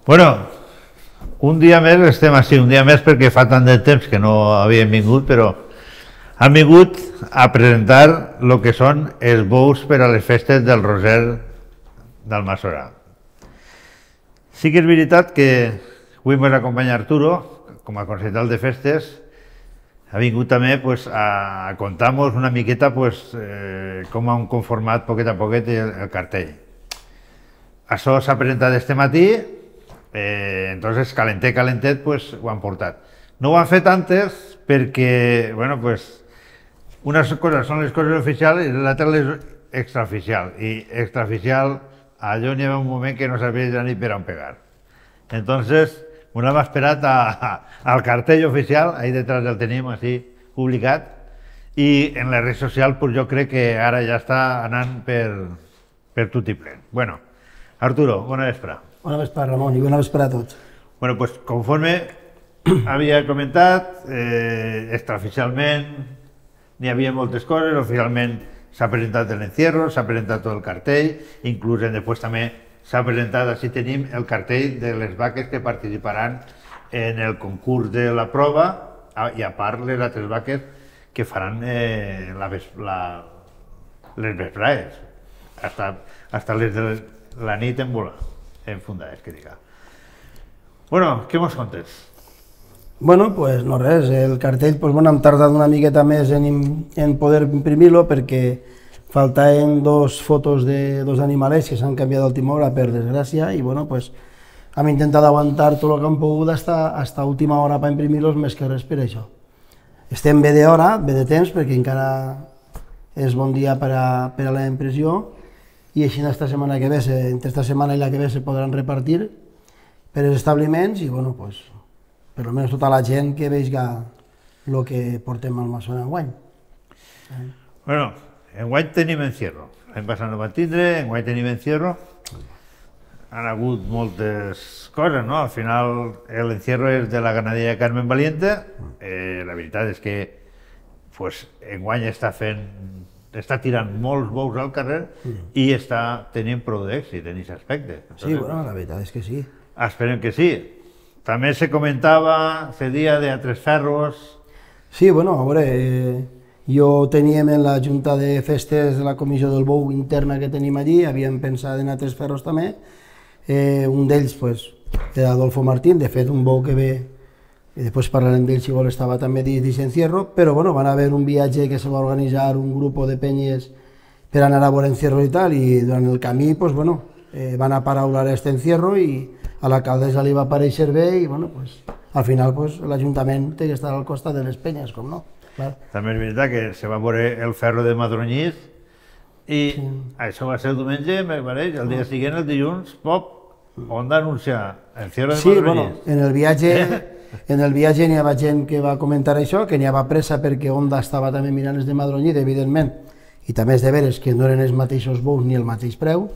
Bueno, un dia més estem així, un dia més perquè fa tant de temps que no havíem vingut, però han vingut a presentar el que són els bous per a les festes del Roser d'Almassora. Sí que és veritat que avui ens acompanya Arturo, com a concejal de festes, ha vingut també a contar-nos una miqueta com han conformat poquet a poquet el cartell. Això s'ha presentat este matí, entonces calentet ho han portat. No ho han fet antes perquè, bueno, unes coses són les coses oficials i l'altra les extraoficial. I extraoficial, allò n'hi havia un moment que no sabia ja ni per on pegar. Entonces, ens hem esperat al cartell oficial, ahí detrás el tenim així publicat, i en les redes socials jo crec que ara ja està anant per tot i plen. Bueno, Arturo, bona vespre. Bona vespre, Ramon, i bona vespre a tots. Bueno, conforme havia comentat, extraoficialment n'hi havia moltes coses, oficialment s'ha presentat l'encierro, s'ha presentat tot el cartell, inclús després també s'ha presentat, així tenim el cartell de les vaques que participaran en el concurs de la prova i a part les altres vaques que faran les vesprades, hasta les de la nit en volar, en fundades, que diga. Bueno, què mos contes? Bueno, pues no res, el cartell hem tardat una miqueta més en poder imprimir-lo perquè faltaven dos fotos de dos animalets que s'han canviat d'última hora, per desgràcia, i bueno, hem intentat aguantar tot el que hem pogut fins a última hora per imprimir-los, més que res per això. Estem bé d'hora, bé de temps, perquè encara és bon dia per a la impressió, i així esta setmana que ve, entre esta setmana i la que ve, se podran repartir per als establiments i, bueno, per almenys tota la gent que veiga el que portem al Almassora enguany. Bueno, enguany tenim encierro. L'any passat no vam tindre, enguany tenim encierro. Han hagut moltes coses, no? Al final l'encierro és de la ganaderia Carmen Valiente. La veritat és que enguany està tirant molts bous al carrer i està tenint prou d'èxit en aquest aspecte. Sí, bueno, la veritat és que sí. Esperem que sí. També se comentava, se dia de altres ferros. Sí, bueno, a veure, jo teníem en la Junta de Festes de la Comissió del Bou interna que tenim allí, havíem pensat en altres ferros també. Un d'ells era Adolfo Martín, de fet un bou que ve, i després parlarem d'ell si vol, estava també dins encierro, però bueno, van haver un viatge que se va organitzar un grup de penyes per anar a veure encierro i tal, i durant el camí, bueno, van a paraular este encierro i a l'alcaldessa li va aparèixer bé i, bueno, al final l'Ajuntament té que estar al costat de les penyes, com no. També és veritat que se va veure el ferro de Madronyís i això va ser el diumenge, me pareix, el dia següent, el dilluns, on va anunciar el ferro de Madronyís. Sí, bueno, en el viatge n'hi havia gent que va comentar això, que n'hi havia pressa perquè Onda estava també mirant els de Madronyís, evidentment, i també és de veres que no eren els mateixos bous ni el mateix preu.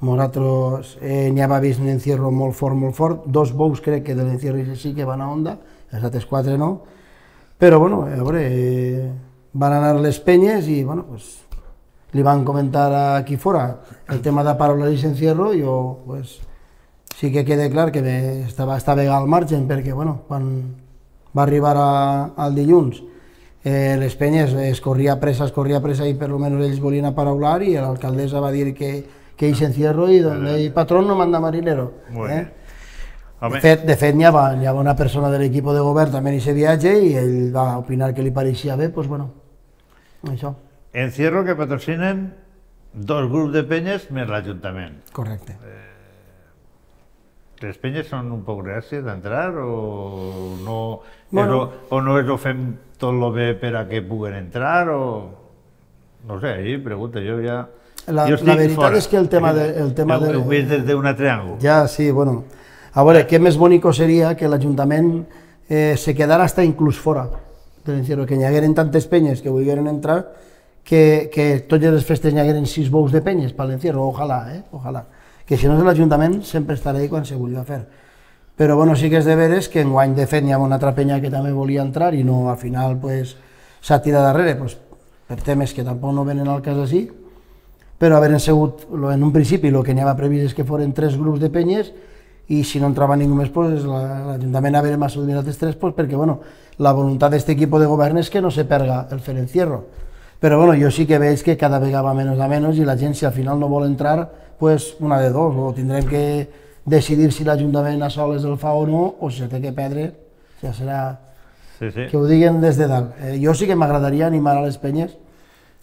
Nosaltres n'hi havia vist un encierro molt fort, dos bous crec que de l'encierro sí que van a Onda, els altres quatre no, però bueno, a veure, van anar les penyes i bueno, li van comentar aquí fora el tema de paraular i encierro, jo sí que queda clar que estava al marge perquè bueno, quan va arribar al dilluns les penyes es corria pressa i per almenys ells volien paraular i l'alcaldessa va dir que hice encierro y donde el patrón no manda marinero. De fet, n'hi havia una persona de l'equip de govern també en aquest viatge i ell va opinar que li pareixia bé, doncs bueno, això. Encierro que patrocinen dos grups de penyes més l'Ajuntament. Correcte. Les penyes són un poc reàcies d'entrar o no és ho fem tot el bé per a que puguen entrar o... No sé, ahí pregunto, jo ja... La veritat és que el tema de... Ho veig des d'un altre àngol. Ja, sí, bueno. A veure, què més bonico seria que l'Ajuntament se quedara hasta inclús fora de l'encierro, que n'hi hagueren tantes penyes que volgueren entrar, que totes les festes n'hi hagueren 6 bous de penyes per l'encierro, ojalà, ojalà. Que si no l'Ajuntament sempre estarà ahí quan se volia fer. Però bueno, sí que és de veres que enguany de fet n'hi ha una altra penya que també volia entrar i no, al final s'ha tirat darrere, per temes que tampoc no venen al cas així, però haveren sigut en un principi el que n'hi havia previst és que foren 3 grups de penyes i si no entrava ningú més, pues, l'Ajuntament haver massa diners dels tres, pues, perquè bueno, la voluntat d'aquest equip de govern és que no se perga el fer encierro. Però bueno, jo sí que veig que cada vegada va menys a menys i la gent, si al final no vol entrar, pues, una de dos, o tindrem que decidir si l'Ajuntament a soles el fa o no, o si se té que perdre, ja serà que ho diguen des de dalt. Jo sí que m'agradaria animar a les penyes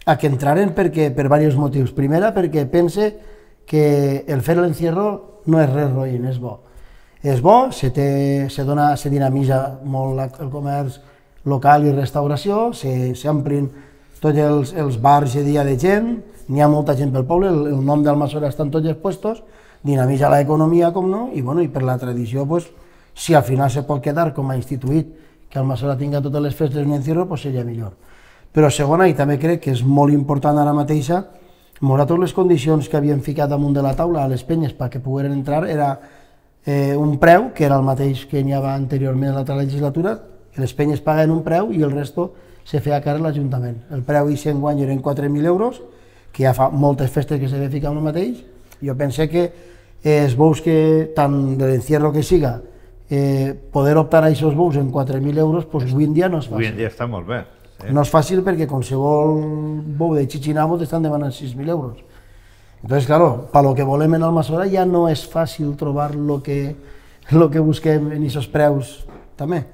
a que entraren per diversos motius. Primera, perquè pense que el fer l'encierro no és res roïn, és bo. És bo, se dinamitza molt el comerç local i restauració, s'amplin tots els bars i dia de gent, n'hi ha molta gent pel poble, el nom d'Almassora està en tots els puestos, dinamitza l'economia, com no, i per la tradició, si al final se pot quedar com a instituït que Almassora tinga totes les festes en encierro, seria millor. Però segona, i també crec que és molt important ara mateixa, malgrat totes les condicions que havien ficat damunt de la taula a les penyes perquè pogueren entrar, era un preu, que era el mateix que n'hi havia anteriorment a l'altra legislatura, que les penyes paguen un preu i el resto se feia càrrec l'Ajuntament. El preu i enguany eren 4.000 euros, que ja fa moltes festes que se ve ficar el mateix. Jo pense que els bous que, tant de l'encierro que siga, poder optar a aquests bous en 4.000 euros, avui en dia no és fàcil. Avui en dia està molt bé. No és fàcil perquè qualsevol bou de Chichinabo t'estan demanant 6.000 euros. Entonces, claro, para lo que volem en Almassora ja no és fàcil trobar lo que busquem en aquests preus també.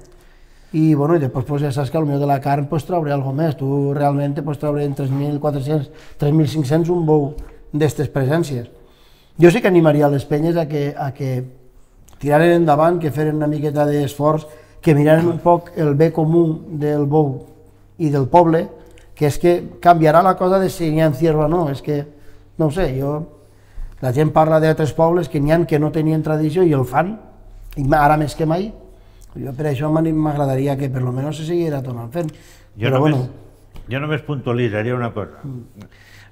I bueno, després ja saps que potser de la carn trauré alguna més. Tu realment pots treure en 3.400, 3.500 un bou d'aquestes presències. Jo sí que animaria les penyes a que tiraren endavant, que feren una miqueta d'esforç, que miraren un poc el bé comú del bou i del poble, que és que canviarà la cosa de si n'hi ha encierro o no. És que, no ho sé, la gent parla d'altres pobles que n'hi ha que no tenien tradició i el fan, i ara més que mai. Jo per això m'agradaria que per almenys se seguirà tornant fent. Jo només puntualitzaria una cosa.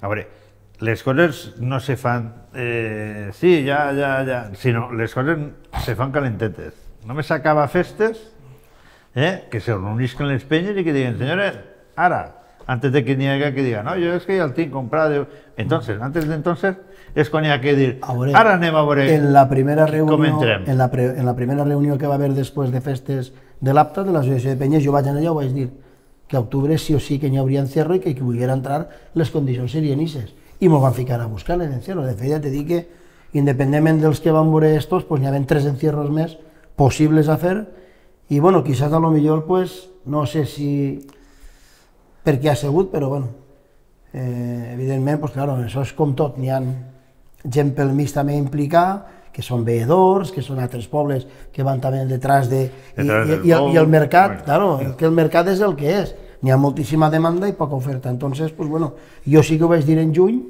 A veure, les coses no se fan, sí, ja, sinó les coses se fan calentetes. Només s'acaba festes, que se reunisquen les penyes i que diguen, senyores, ara, antes de que n'hi hagi que digan, no, jo és que ja el tinc comprat. Entonces, antes de entonces, és quan hi ha que dir, ara anem a veure com entrem. En la primera reunió que va haver després de festes de l'APTA, de l'Associació de Penyes, jo vaig anar allà i vaig dir que a octubre sí o sí que n'hi hauria encierro i que qui volguera entrar les condicions serien ixes. I m'ho van ficar a buscar l'encierro. De fet, ja te dic que, independentment dels que van veure estos, hi havia 3 encierros més possibles a fer i, bueno, quizás a lo millor, no sé si per què ha sigut, però, bueno, evidentment, claro, això és com tot, n'hi ha gent pel mig també implicada, que són veedors, que són altres pobles que van també detrás de... I el mercat, claro, que el mercat és el que és. N'hi ha moltíssima demanda i poca oferta. Entonces, bueno, jo sí que ho vaig dir en juny,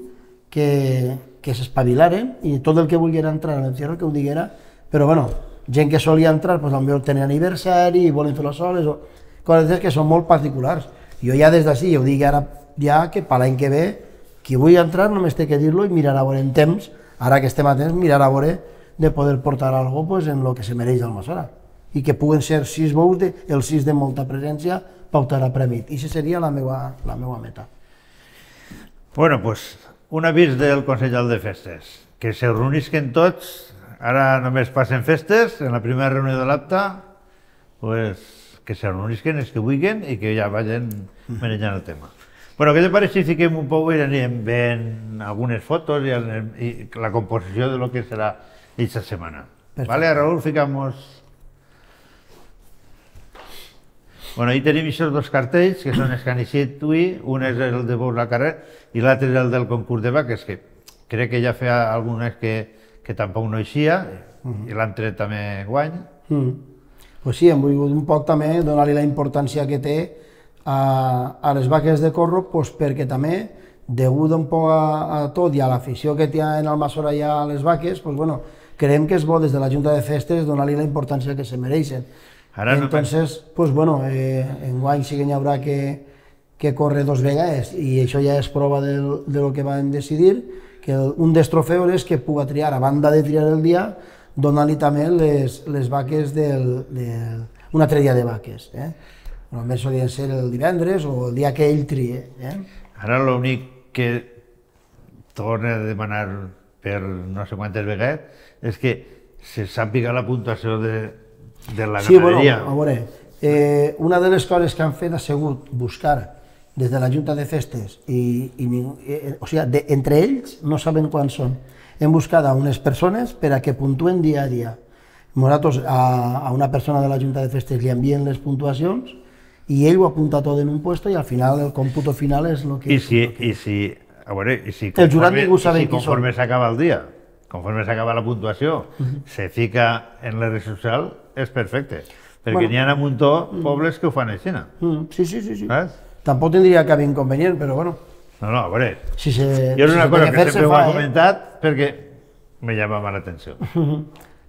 que s'espavilaren i tot el que volguera entrar a l'encierro que ho diguera, però, bueno, gent que solia entrar, potser tenen aniversari i volen fer-lo soles, o coses que són molt particulars. Jo ja des d'ací, ja ho dic ara, ja que per l'any que ve, qui vulgui entrar només té que dir-lo i mirar a veure en temps, ara que estem a temps, mirar a veure de poder portar alguna cosa en el que se mereix Almassora. I que puguen ser 6 bous, el 6 de molta presència, pautar a premi. I això seria la meva meta. Bueno, pues, un avís del Consell de Festes, que se reunisquen tots, ara només passen festes, en la primera reunió de l'APTA, que se reunisquen els que vulguin i que ja vagin manejant el tema. Bueno, què te pareix si fiquem un poc i anem veient algunes fotos i la composició de lo que serà aquesta setmana? Vale, Raúl, ficamos... Bueno, ahí tenim aquests 2 cartells, que són els que han eixit avui, un és el de Bous la Carrer i l'altre és el del concurs de vaques, que crec que ja feia algunes que tampoc no eixia, i l'altre també guany. Pues sí, hem volgut un poc també donar-li la importància que té a les vaques de corro, perquè també, degut un poc a tot i a l'afició que té en Almassora ja a les vaques, creiem que és bo des de la Junta de Festes donar-li la importància que se mereixen. Entonces, enguany sí que n'hi haurà que córrer 2 vegades i això ja és prova de lo que van decidir, que un dels trofeus és que puga triar, a banda de triar el dia, donar-li també les vaques un altre dia de vaques. Només solien ser el divendres o el dia que ell trie. Ara l'únic que torna a demanar per no sé quantes vegades és que se sàpiga la puntuació de la Sí, bueno, ganaderia. a veure, una de les coses que han fet ha sigut buscar des de la Junta de Festes, o sigui, entre ells no saben quants són, hem buscat a unes persones per a que puntuen dia a dia. Nosaltres a una persona de la Junta de Festes li envien les puntuacions i ell ho apunta tot en un puesto i al final el còmputo final és el que... I si El jurat ningú sabe qui són. conforme s'acaba el dia, conforme s'acaba la puntuació, se fica en la red social, és perfecte. Perquè n'hi ha un muntó pobles que ho fan així, Sí, sí, sí. saps? Tampoc tindria cap inconvenient, però bueno... No, a veure, Si se, jo és una si cosa té que fer, sempre se ho he fa, comentat perquè me llamava l'atenció.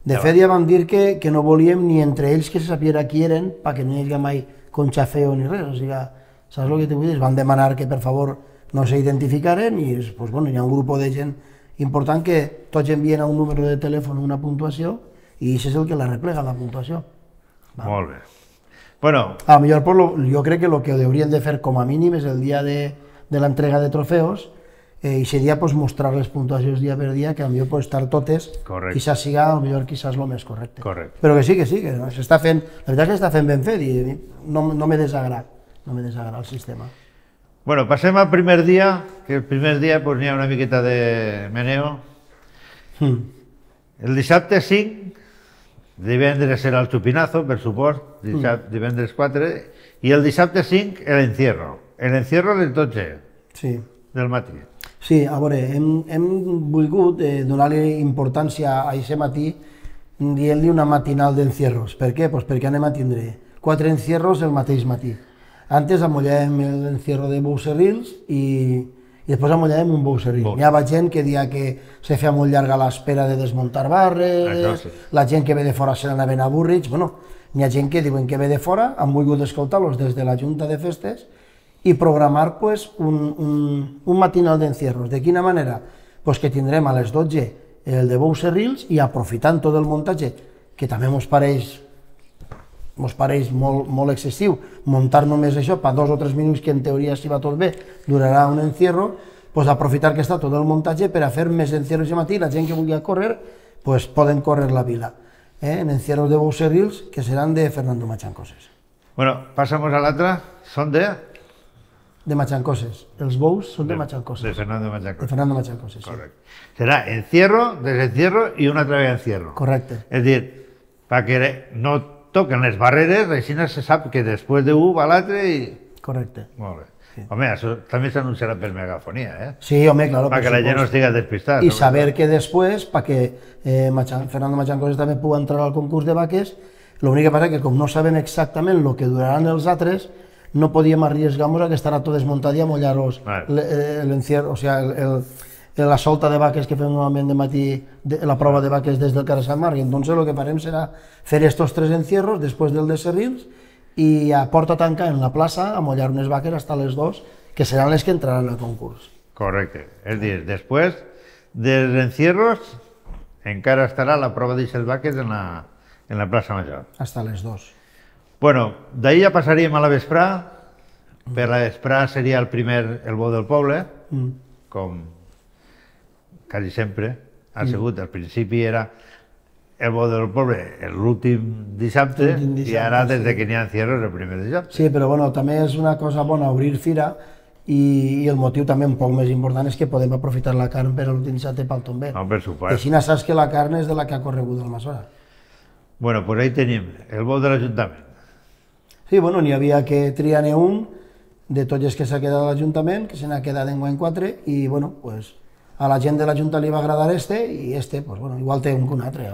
De fet, ja vam dir que no volíem ni entre ells que se sapiera qui eren perquè no hi havia mai conxafeo ni res. O sigui, saps el que t'ho vull dir? Van demanar que, per favor, no s'identificaren i pues, bueno, hi ha un grup de gent important que tots envien a un número de telèfon una puntuació i això és el que la replega, la puntuació. Molt bé. Bueno, A lo millor jo crec que el que haurien de fer com a mínim és el dia de l'entrega de trofeos i seria pues, mostrar les puntuacions dia per dia, que potser pot estar totes, Correcte. quizás siga quizás el més correcte. Correcte. Però que s'està fent, la veritat és que s'està fent ben fet i no me desagrada, el sistema. bueno, passem al primer dia, que el primer dia pues, n'hi ha una miqueta de meneo. El dissabte 5, divendres serà el xupinazo, per supost, divendres 4, i el dissabte 5 l'encierro. L'encierro a les 12 Sí. del matí. Sí, a veure, hem volgut donar-li importància a aquest matí dient-li una matinal d'encierros. Per què? Pues perquè anem a tindre 4 encierros el mateix matí. Antes amollàvem l'encierro de bous serrils i després amollàvem un bou serril. Hi ha gent que dia que se feia molt llarga l'espera de desmuntar barres, sí. La gent que ve de fora se n'anaven avorrits. Bueno, hi ha gent que diuen que ve de fora, han volgut escoltar-los des de la Junta de Festes i programar pues, un matinal d'encierros. De quina manera? Pues que tindrem a les 12 el de bous serrils i aprofitant tot el muntatge, que també mos pareix molt excessiu, muntar només això per 2 o 3 minuts, que en teoria, si va tot bé, durarà un encierro, pues aprofitar que està tot el muntatge per a fer més encierros de matí. La gent que vulgui córrer, pues poden córrer la vila. En encierros de bous serrils, que seran de Fernando Machancoses. Bueno, passamos a l'altre, són De Machancoses. Els bous són de Machancoses. de Fernando De Machancoses. Fernando Machancoses, sí. Correcte. Serà encierro, desencierro i una altra vegada encierro. Correcte. És dir, perquè no toquen les barreres, així no se sap que després d'un va l'altre i... Correcte. Molt bé. Home, això també s'anunciarà per megafonia, Sí, home, claro. Perquè la gent no estigui despistada. I saber que després, perquè Fernando Machancoses també pugui entrar al concurs de vaques, l'únic que passa és que com no saben exactament el que duraran els altres, no podíem arriesgar-nos a que estarà tot desmuntat i a mollar-los l'encierro, o sigui, la solta de vaques que fem normalment de matí, la prova de vaques des del carrer Sant Marc. Entonces lo que farem serà fer estos 3 encierros després del de serrils i a porta tanca en la plaça a mollar unes vaques fins a les 2, que seran les que entraran al concurs. Correcte. És dir, després dels encierros encara estarà la prova d'aixes vaques en la plaça Major. Hasta les 2. Bueno, d'ahir ja passaríem a la vesprà. Per la vesprà seria el bou del poble, com quasi sempre ha sigut. Al principi era el bou del poble l'últim dissabte i ara des que n'hi ha encierros el primer dissabte. Sí, però bueno, també és una cosa bona obrir fira i el motiu també un poc més important és que podem aprofitar la carn per l'últim dissabte pel tomber. No, per I supost. així saps que la carn és de la que ha corregut el Masora. Bueno, pues ahí tenim el bou de l'Ajuntament. Sí, bueno, n'hi havia que triar-ne un de tots els que s'ha quedat a l'Ajuntament, que se n'ha quedat enguany 4, i bueno, pues, a la gent de l'Ajuntament li va agradar i pues, bueno, igual té un que un altre,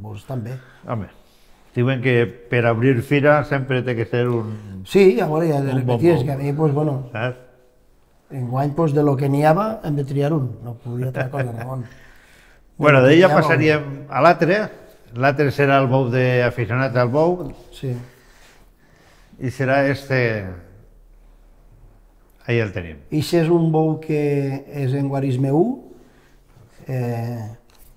pues, també. Home, diuen que per obrir fira sempre té que ser un... Sí, a veure, ja de Un bon repetir, és bou. que a mi, pues, bueno, Saps? enguany, pues, de lo que n'hi havia, hem de triar un, no podria altra cosa, Ramon. Bueno, d'ahir ja passaríem a l'altre. L'altre serà el bou d'aficionats al bou, Sí. i serà ahí el tenim. Ixe és un bou que és en guarisme 1.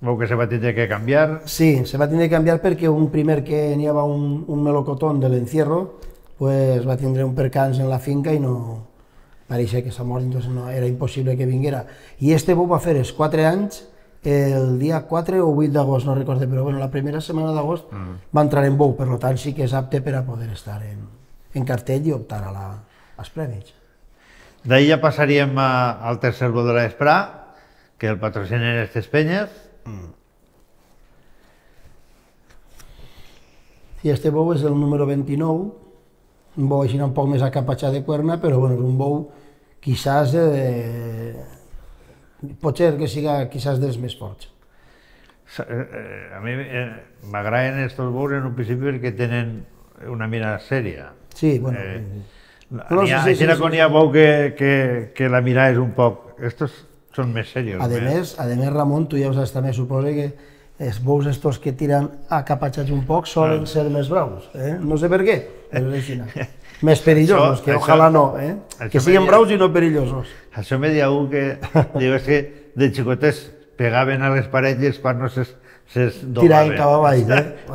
Bou que se va tindre que canviar. Sí, se va tindre que canviar perquè un primer que n'hi havia un melocotón de l'encierro, pues va tindre un percans en la finca i no... Pareixia que s'ha mort, entonces no, era impossible que vinguera. I este bou va fer els 4 anys el dia 4 o 8 d'agost, no recordo, però bueno, la primera setmana d'agost va entrar en bou, per tant sí que és apte per a poder estar en cartell i optar als premis. D'ahir ja passaríem al tercer bou de l'Esprà, que el patrocinen aquestes penyes. I este bou és el número 29, un bou així un poc més acapatxat de cuerna, però bueno, és un bou quizás pot ser que siga quizás dels més forts. A mi m'agraden estos bous en un principi perquè tenen una mirada sèria. Sí, bueno. Així no hi ha bou que la mirada és un poc... Estos són més serios. A més, Ramon, tu ja ho saps també, suposa que els bous estos que tiren acapatxats un poc solen ser més braus, no sé per què, però és així. Més perillosos, que ojalà no, que siguin braus i no perillosos. Això me deia un que diu que de xicotes pegaven a les parelles quan no ses doblaven. Tiraven cap avall,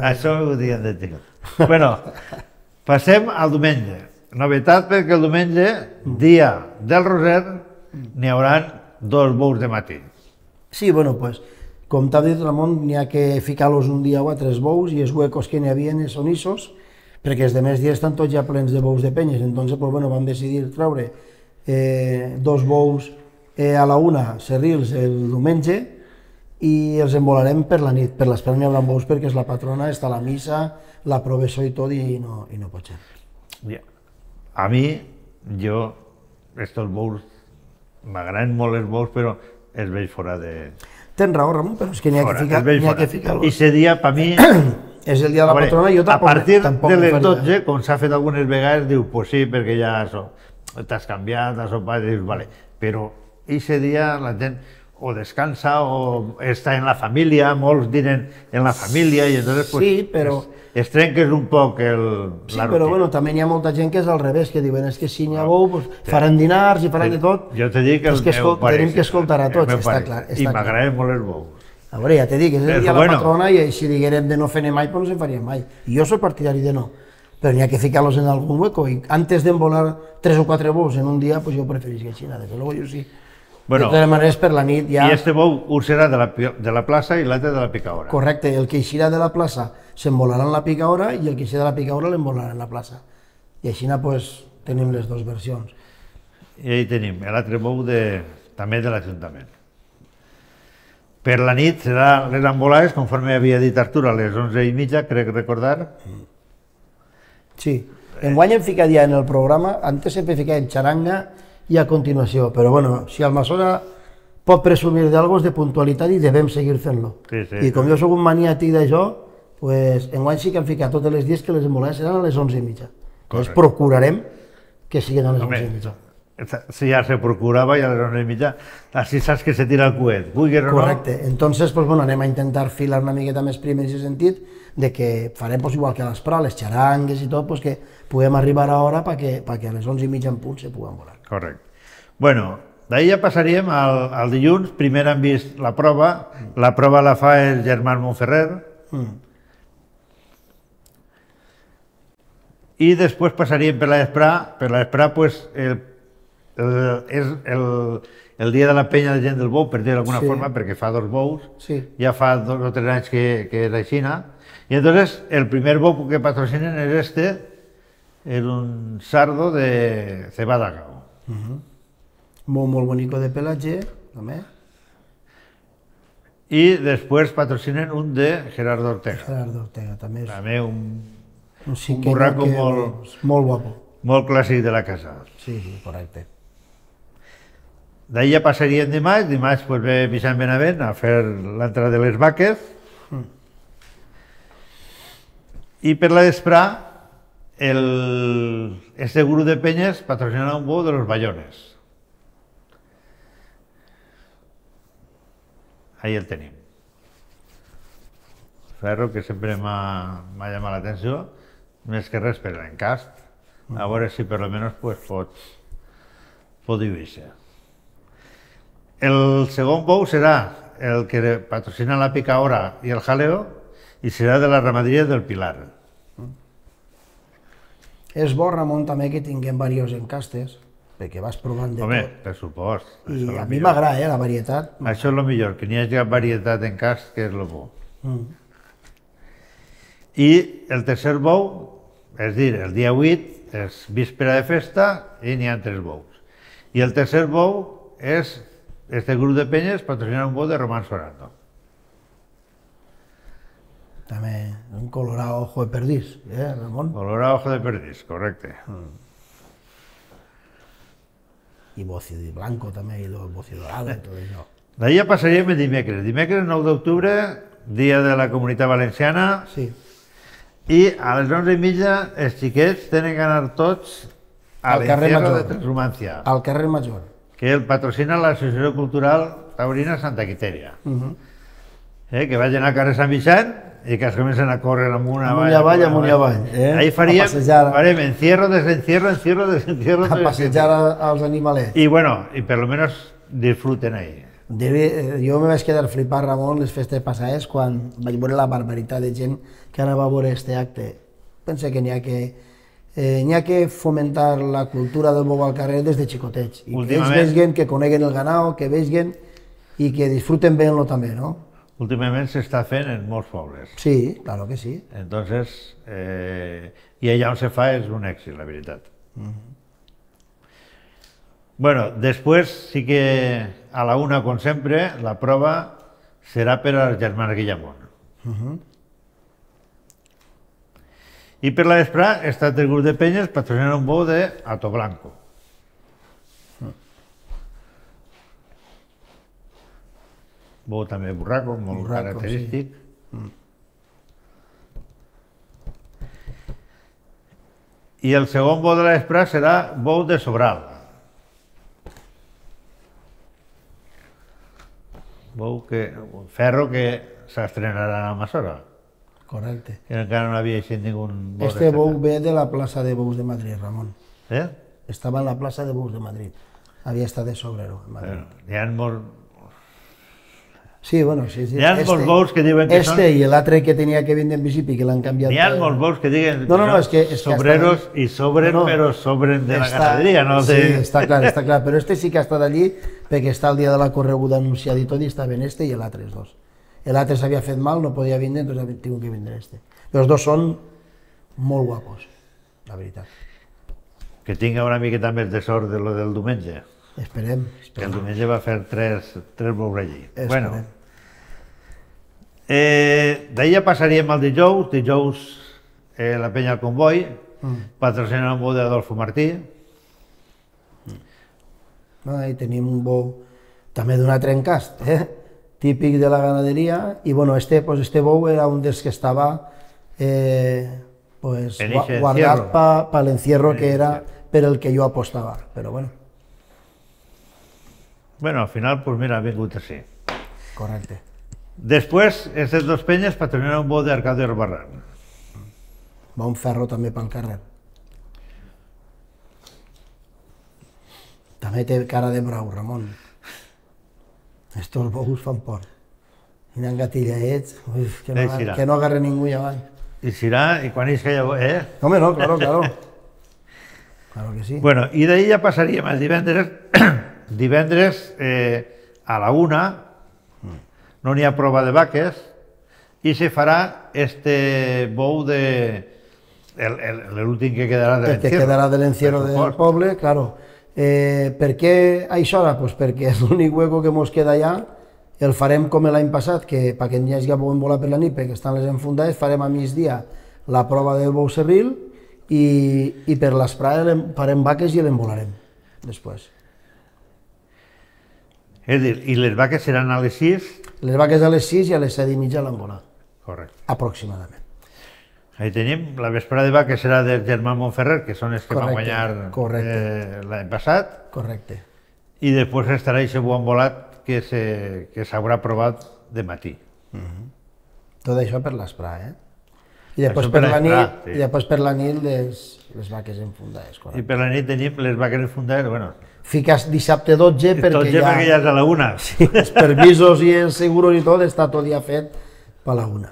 Això ho diuen de xicot. Bueno, passem al diumenge. Novetat perquè el diumenge, dia del Roser, n'hi haurà 2 bous de matí. Sí, bueno, pues, com t'ha dit Ramon, n'hi ha que ficar-los un dia o a 3 bous i els huecos que n'hi havia són issos, perquè els demés dies estan tots ja plens de bous de penyes, entonces pues, bueno, vam decidir treure 2 bous a la 1, serrils el diumenge, i els embolarem per la nit. Per l'espera n'hi haurà bous perquè és la patrona, està a la missa, la professó i tot, i no pot ser. A mi, estos bous, m'agraden molt els bous, però els veig fora de... Tens raó, Ramon, però és que n'hi ha que ficar-los. I aquest dia, per mi... És el dia de la patrona i jo tampoc... A partir de les 12, com s'ha fet algunes vegades, diu, pues sí, perquè ja t'has canviat, has sopat, i dius, vale. Però aquest dia la gent o descansa o està en la família, molts dinen en la família, i entonces pues, sí, però... es trenques un poc la rutina. Sí, però bueno, també n'hi ha molta gent que és al revés, que diuen, és que si n'hi ha bou, pues, faran dinars i faran de tot. Jo t'he dit que el meu pare... Tenim que escoltar a tots, està clar. I m'agraden molt els bous. A veure, ja t'he dit, és el dia de la patrona i si diguérem de no fer-ne mai, doncs no se'n faria mai. I jo soc partidari de no, però n'hi ha que ficar-los en algun hueco i antes d'embolar 3 o 4 bous en un dia, pues jo preferisc així, des de luego jo sí. De totes maneres, per la nit ja... I este bou un serà de la plaça i l'altre de la picaora. Correcte, el que eixirà de la plaça s'embolarà en la picaora i el que eixirà de la picaora l'embolarà en la plaça. I així pues, tenim les dues versions. I ahí tenim l'altre bou també de l'Ajuntament. Per la nit serà les embolades, conforme havia dit Artur, a les 11:30, crec recordar. Sí, enguany hem ficat ja en el programa, antes sempre ficàvem xaranga i a continuació, però bueno, si el Massora pot presumir d'algo és de puntualitat i devem seguir fent-lo. I com jo soc un maniàtic d'això, pues, enguany sí que hem ficat tots els dies que les embolades seran a les 11:30. Doncs procurarem que siguin a les 11:30. Si ja se procurava i a les 11:30, així saps que se tira el coet, vulguis o no. Correcte, entonces pues, bueno, anem a intentar filar una miqueta més prim en aquest sentit, de que farem pues, igual que a l'Esprà, les xarangues i tot, pues, que puguem arribar a hora perquè a les 11:30 en punt se puguen volar. Correcte. Bueno, d'ahir ja passaríem al dilluns, primer hem vist la prova la fa el Germán Montferrer, i després passaríem per l'Esprà, pues, és el dia de la penya de gent del bou, per dir d'alguna forma, perquè fa 2 bous, ja fa 2 o 3 anys que és així, i entonces el primer bou que patrocinen és és un sardo de cebada gau. Molt bonico de pelatge, també. I després patrocinen un de Gerardo Ortega. Gerardo Ortega, també. També un burraco molt guapo. Molt clàssic de la casa. Sí, correcte. D'ahir ja passaríem dimarts pues, ve Vicent Benavent a fer l'entrada de les vaques. I per la d'Esprà, este grup de penyes patrocinarà un bou de los Bayones. Ahí el tenim. Ferro que sempre m'ha llamat l'atenció, més que res per l'encast, a veure si per almenys pues, pot lluir-se. El segon bou serà el que patrocina la picaora i el jaleo i serà de la ramaderia del Pilar. És bo, Ramon, també que tinguem diversos encastes, perquè vas provant de Home, tot. per supost. I a mi m'agrada, la varietat. Això és el millor, que n'hi hagi varietat en cast, que és el bo. I el tercer bou, és dir, el dia 8 és víspera de festa i n'hi ha 3 bous. I el tercer bou és este grup de penyes patrocina un bou de Román Sorando. També un colorado ojo de perdís, Ramon? Colorado ojo de perdís, correcte. I bocio de blanco també, i el bocio dorado i tot això. D'ahir ja passaríem el dimecres. Dimecres 9 d'octubre, dia de la Comunitat Valenciana, Sí, i a les 11:30 els xiquets tenen que anar tots Al carrer l'encierro Major. de Transhumancia, al carrer Major. que el patrocina l'Associació Cultural Taurina Santa Quiteria. Que vagin al carrer Sant Vicent i que es comencen a córrer amunt Amunt i avall, amunt i avall. Ahí faríem, A passejar. farem encierro, desencierro, encierro, desencierro. A passejar als animalets. I bueno, i per lo menos disfruten ahí. Jo me vaig quedar flipat, Ramon, les festes passades, quan vaig veure la barbaritat de gent que anava a veure este acte. Penso que n'hi ha que fomentar la cultura del bou al carrer des de xicotets. I que ells vegin, que coneguen el ganao, que vegin i que disfruten bé-lo també, no? Últimament s'està fent en molts pobles. Sí, claro que sí. Entonces, i allà on se fa és un èxit, la veritat. Bueno, després sí que a la una, com sempre, la prova serà per als germans Guillamón. I per la vesprà està el grup de penyes patrocinant un bou de Hato Blanco. Bou també burraco, molt característic. I el segon bou de la vesprà serà bou de Sobral. Bou que, ferro que s'estrenarà a Massora. Correcte. Que encara no havia eixit ningú bou. Este bou ve de la plaça de bous de Madrid, Ramon. Eh? Estava en la plaça de bous de Madrid. Havia estat de sobrero, en Madrid. Hi ha molts... Sí, bueno, sí. Hi ha molts bous que diuen que són... Este i l'altre que tenia que vindre en bicipi, que l'han canviat... Hi ha molts bous que diuen No, és que sobreros i sobren, però sobren de la ganaderia, no? Sí, està clar, però este sí que ha estat allí perquè està el dia de la correguda anunciat i tot, i estaven este i l'altre, els dos. L'altre s'havia fet mal, no podia vindre, doncs ha tingut que vindre este. Però els dos són molt guapos, la veritat. Que tinga una miqueta més de sort de lo del diumenge. Esperem. Que el diumenge va fer tres bous allí. Bueno, d'ahir ja passaríem al dijous la penya al Comboi, patrocinant un bou d'Adolfo Martí. Ahí tenim un bou també d'un altre encast, típic de la ganaderia, i bueno, este bou era un dels que estava guardat per l'encierro que era per el que jo apostava, però bueno. Bueno, al final, pues mira, ha vingut així. Correcte. Després, aquestes dos penyes patrocinaran un bou d'Arcadi Barran. Va un ferro també pel carrer. També té cara de brau, Ramon. Estos bous fan por. I n'han gatillaets, que no agarre ningú i avall. I serà, i quan és que ja... Home, no, claro. Claro que sí. Bueno, i d'ahir ja passaríem el divendres. Divendres a la 1 no n'hi ha prova de vaques i se farà este bou de... l'últim que quedarà de l'encierro. Que quedarà de l'encierro del poble, claro. Per què a això hora? Pues perquè és l'únic hueco que mos queda allà. El farem com l'any passat, que perquè n'hi hagi bon volar per la nit, perquè estan les enfundades, farem a migdia la prova del bou serril i per l'esprada farem vaques i l'envolarem després. És a dir, i les vaques seran a les 6? Les vaques a les 6 i a les 7:30 l'envolar. Correcte. Aproximadament. Ahí tenim, la vesprada de vaques serà del germà Montferrer, que són els que van guanyar l'any passat. Correcte. I després estarà aquest bou envolat que s'haurà provat de matí. Tot això per l'esprà, I després per la nit les vaques enfundades. I per la nit tenim les vaques enfundades, bueno... Fiques dissabte 12 perquè ja és a la 1. Sí, els permisos i els seguros i tot està tot ja fet per la 1.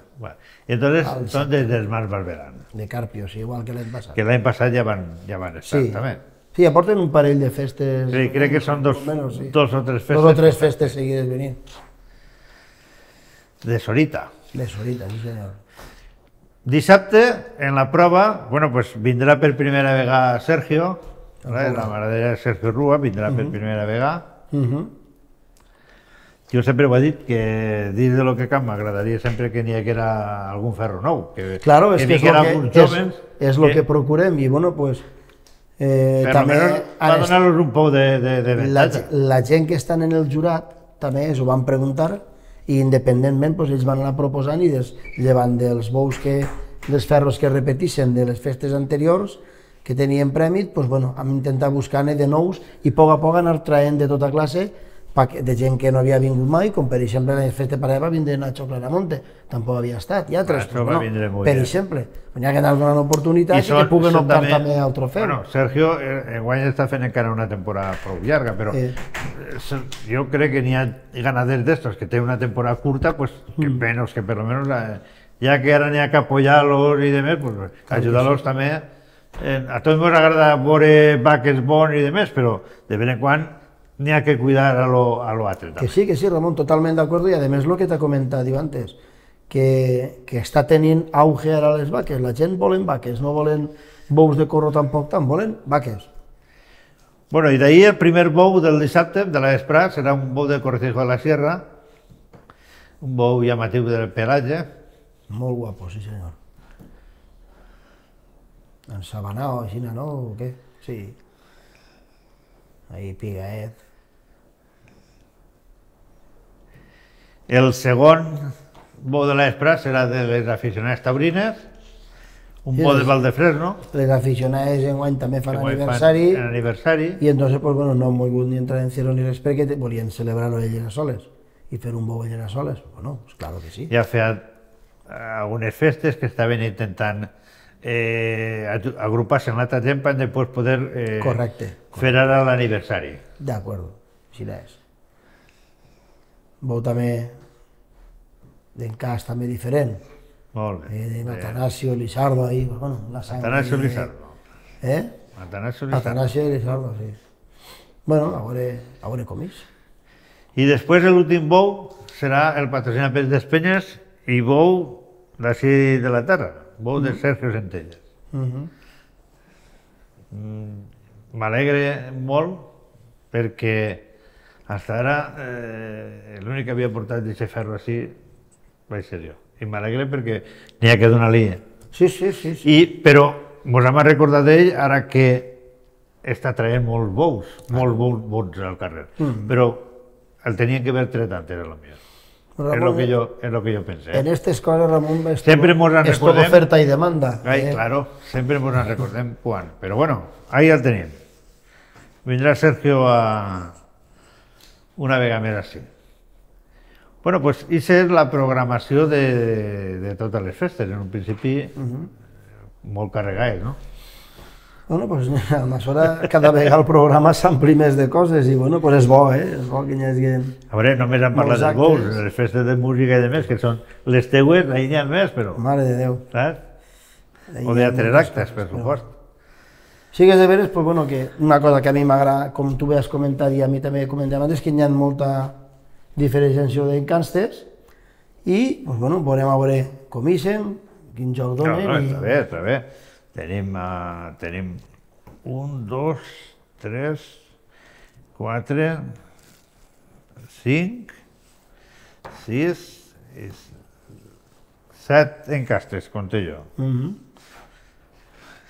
I entonces són des dels Mas Barberán. De Carpio, sí, igual que l'any passat. Que l'any passat ja van estar, també. Sí, ja porten un parell de festes... Sí, crec que són dos o tres festes. Dos o tres festes seguides venint. De Sorita. De Sorita, sí senyor. Dissabte, en la prova, bueno, pues vindrà per primera vegada Sergio, la maradera de Sergio Rua, vindrà per primera vegada. Jo sempre ho he dit que dins de lo que camp m'agradaria sempre que n'hi haguera algun ferro nou, que vinguera alguns jóvens. És el que procurem i bueno, pues... també va donar-los un pou de avantatge. La gent que estan en el jurat també ho van preguntar i independentment ells van anar proposant i llevant dels bous dels ferros que repeteixen de les festes anteriors que tenien prèmit, vam intentar buscar-ne de nous i a poc anar traient de tota classe de gent que no havia vingut mai, com per exemple la festa de Parada va vindre Nacho Claramonte, tampoc havia estat, i altres, per exemple, hi ha que anar donant oportunitats i que puguen optar també al trofeu. Bueno, Sergio enguany està fent encara una temporada prou llarga, però jo crec que n'hi ha ganaders d'estos que tenen una temporada curta, que menos que per lo menos, ja que ara n'hi ha que apoyar-los i demés, ajudar-los també. A tots ens agrada veure vaques bons i demés, però de vez en quan n'hi ha que cuidar a lo altre. Que sí, Ramon, totalment d'acord, i a més el que t'ha comentat antes, que està tenint auge ara les vaques, la gent volen vaques, no volen bous de corro tampoc tant, volen vaques. Bueno, i d'ahir el primer bou del dissabte, de la vesprada, serà un bou de Cortijo de la Sierra, un bou llamatiu del pelatge. Molt guapo, sí senyor. Ensabanao, així, no? O què? Sí. Ahí, pigaet. El segon bou de la vesprada serà de les aficionades taurines, un bou de Valdefresno. Les aficionades enguany també fan aniversari. I entonces, no han volgut ni entrar en cielo ni res perquè volien celebrar-ho de Llenasoles i fer un bou de Llenasoles. Bueno, pues claro que sí. Ja feia algunes festes que estaven intentant agrupar-se en l'altra gent per després poder fer ara l'aniversari. D'acord, així és. Bou també d'encàs també diferent. Molt bé. De Atanasio Lizardo ahí, bueno, la sang... Atanasio Lizardo. Atanasio Lizardo, sí. Bueno, a veure com és. I després l'últim bou serà el patrocinat per Despenyes i bou d'ací de la terra, bou de Sergio Centelles. M'alegre molt perquè fins ara l'únic que havia portat d'aquest ferro així vaig ser jo. I m'alegre perquè n'hi ha que donar-li. Sí. Però mos hem recordat d'ell ara que està traient molts bous bons al carrer. Però el tenien que haver tret antes, és el que jo pensé. En aquestes coses, Ramon, és tot oferta i demanda. Claro, sempre ens en recordem quan. Però bueno, ahí el tenim. Vindrà Sergio una vegada més així. Bueno, pues això és la programació de totes les festes. En un principi, molt carregades, no? Bueno, pues a mesura cada vegada el programa s'ampli més de coses i bueno, pues és bo, és bo que hi hagi... A veure, només hem parlat dels bous, les festes de música i de més, que són les teues, ahí n'hi ha més, però... Mare de Déu. Saps? O d'altres actes, per supost. Sí que és de veres, pues bueno, que una cosa que a mi m'agrada, com tu has comentat i a mi també comentàvem antes, que hi ha molta diferenciació d'encastes i, pues bueno, veurem a veure com ixen, quin joc donen... No, està bé. Tenim 1, 2, 3, 4, 5, 6, 7 encastes, compte jo.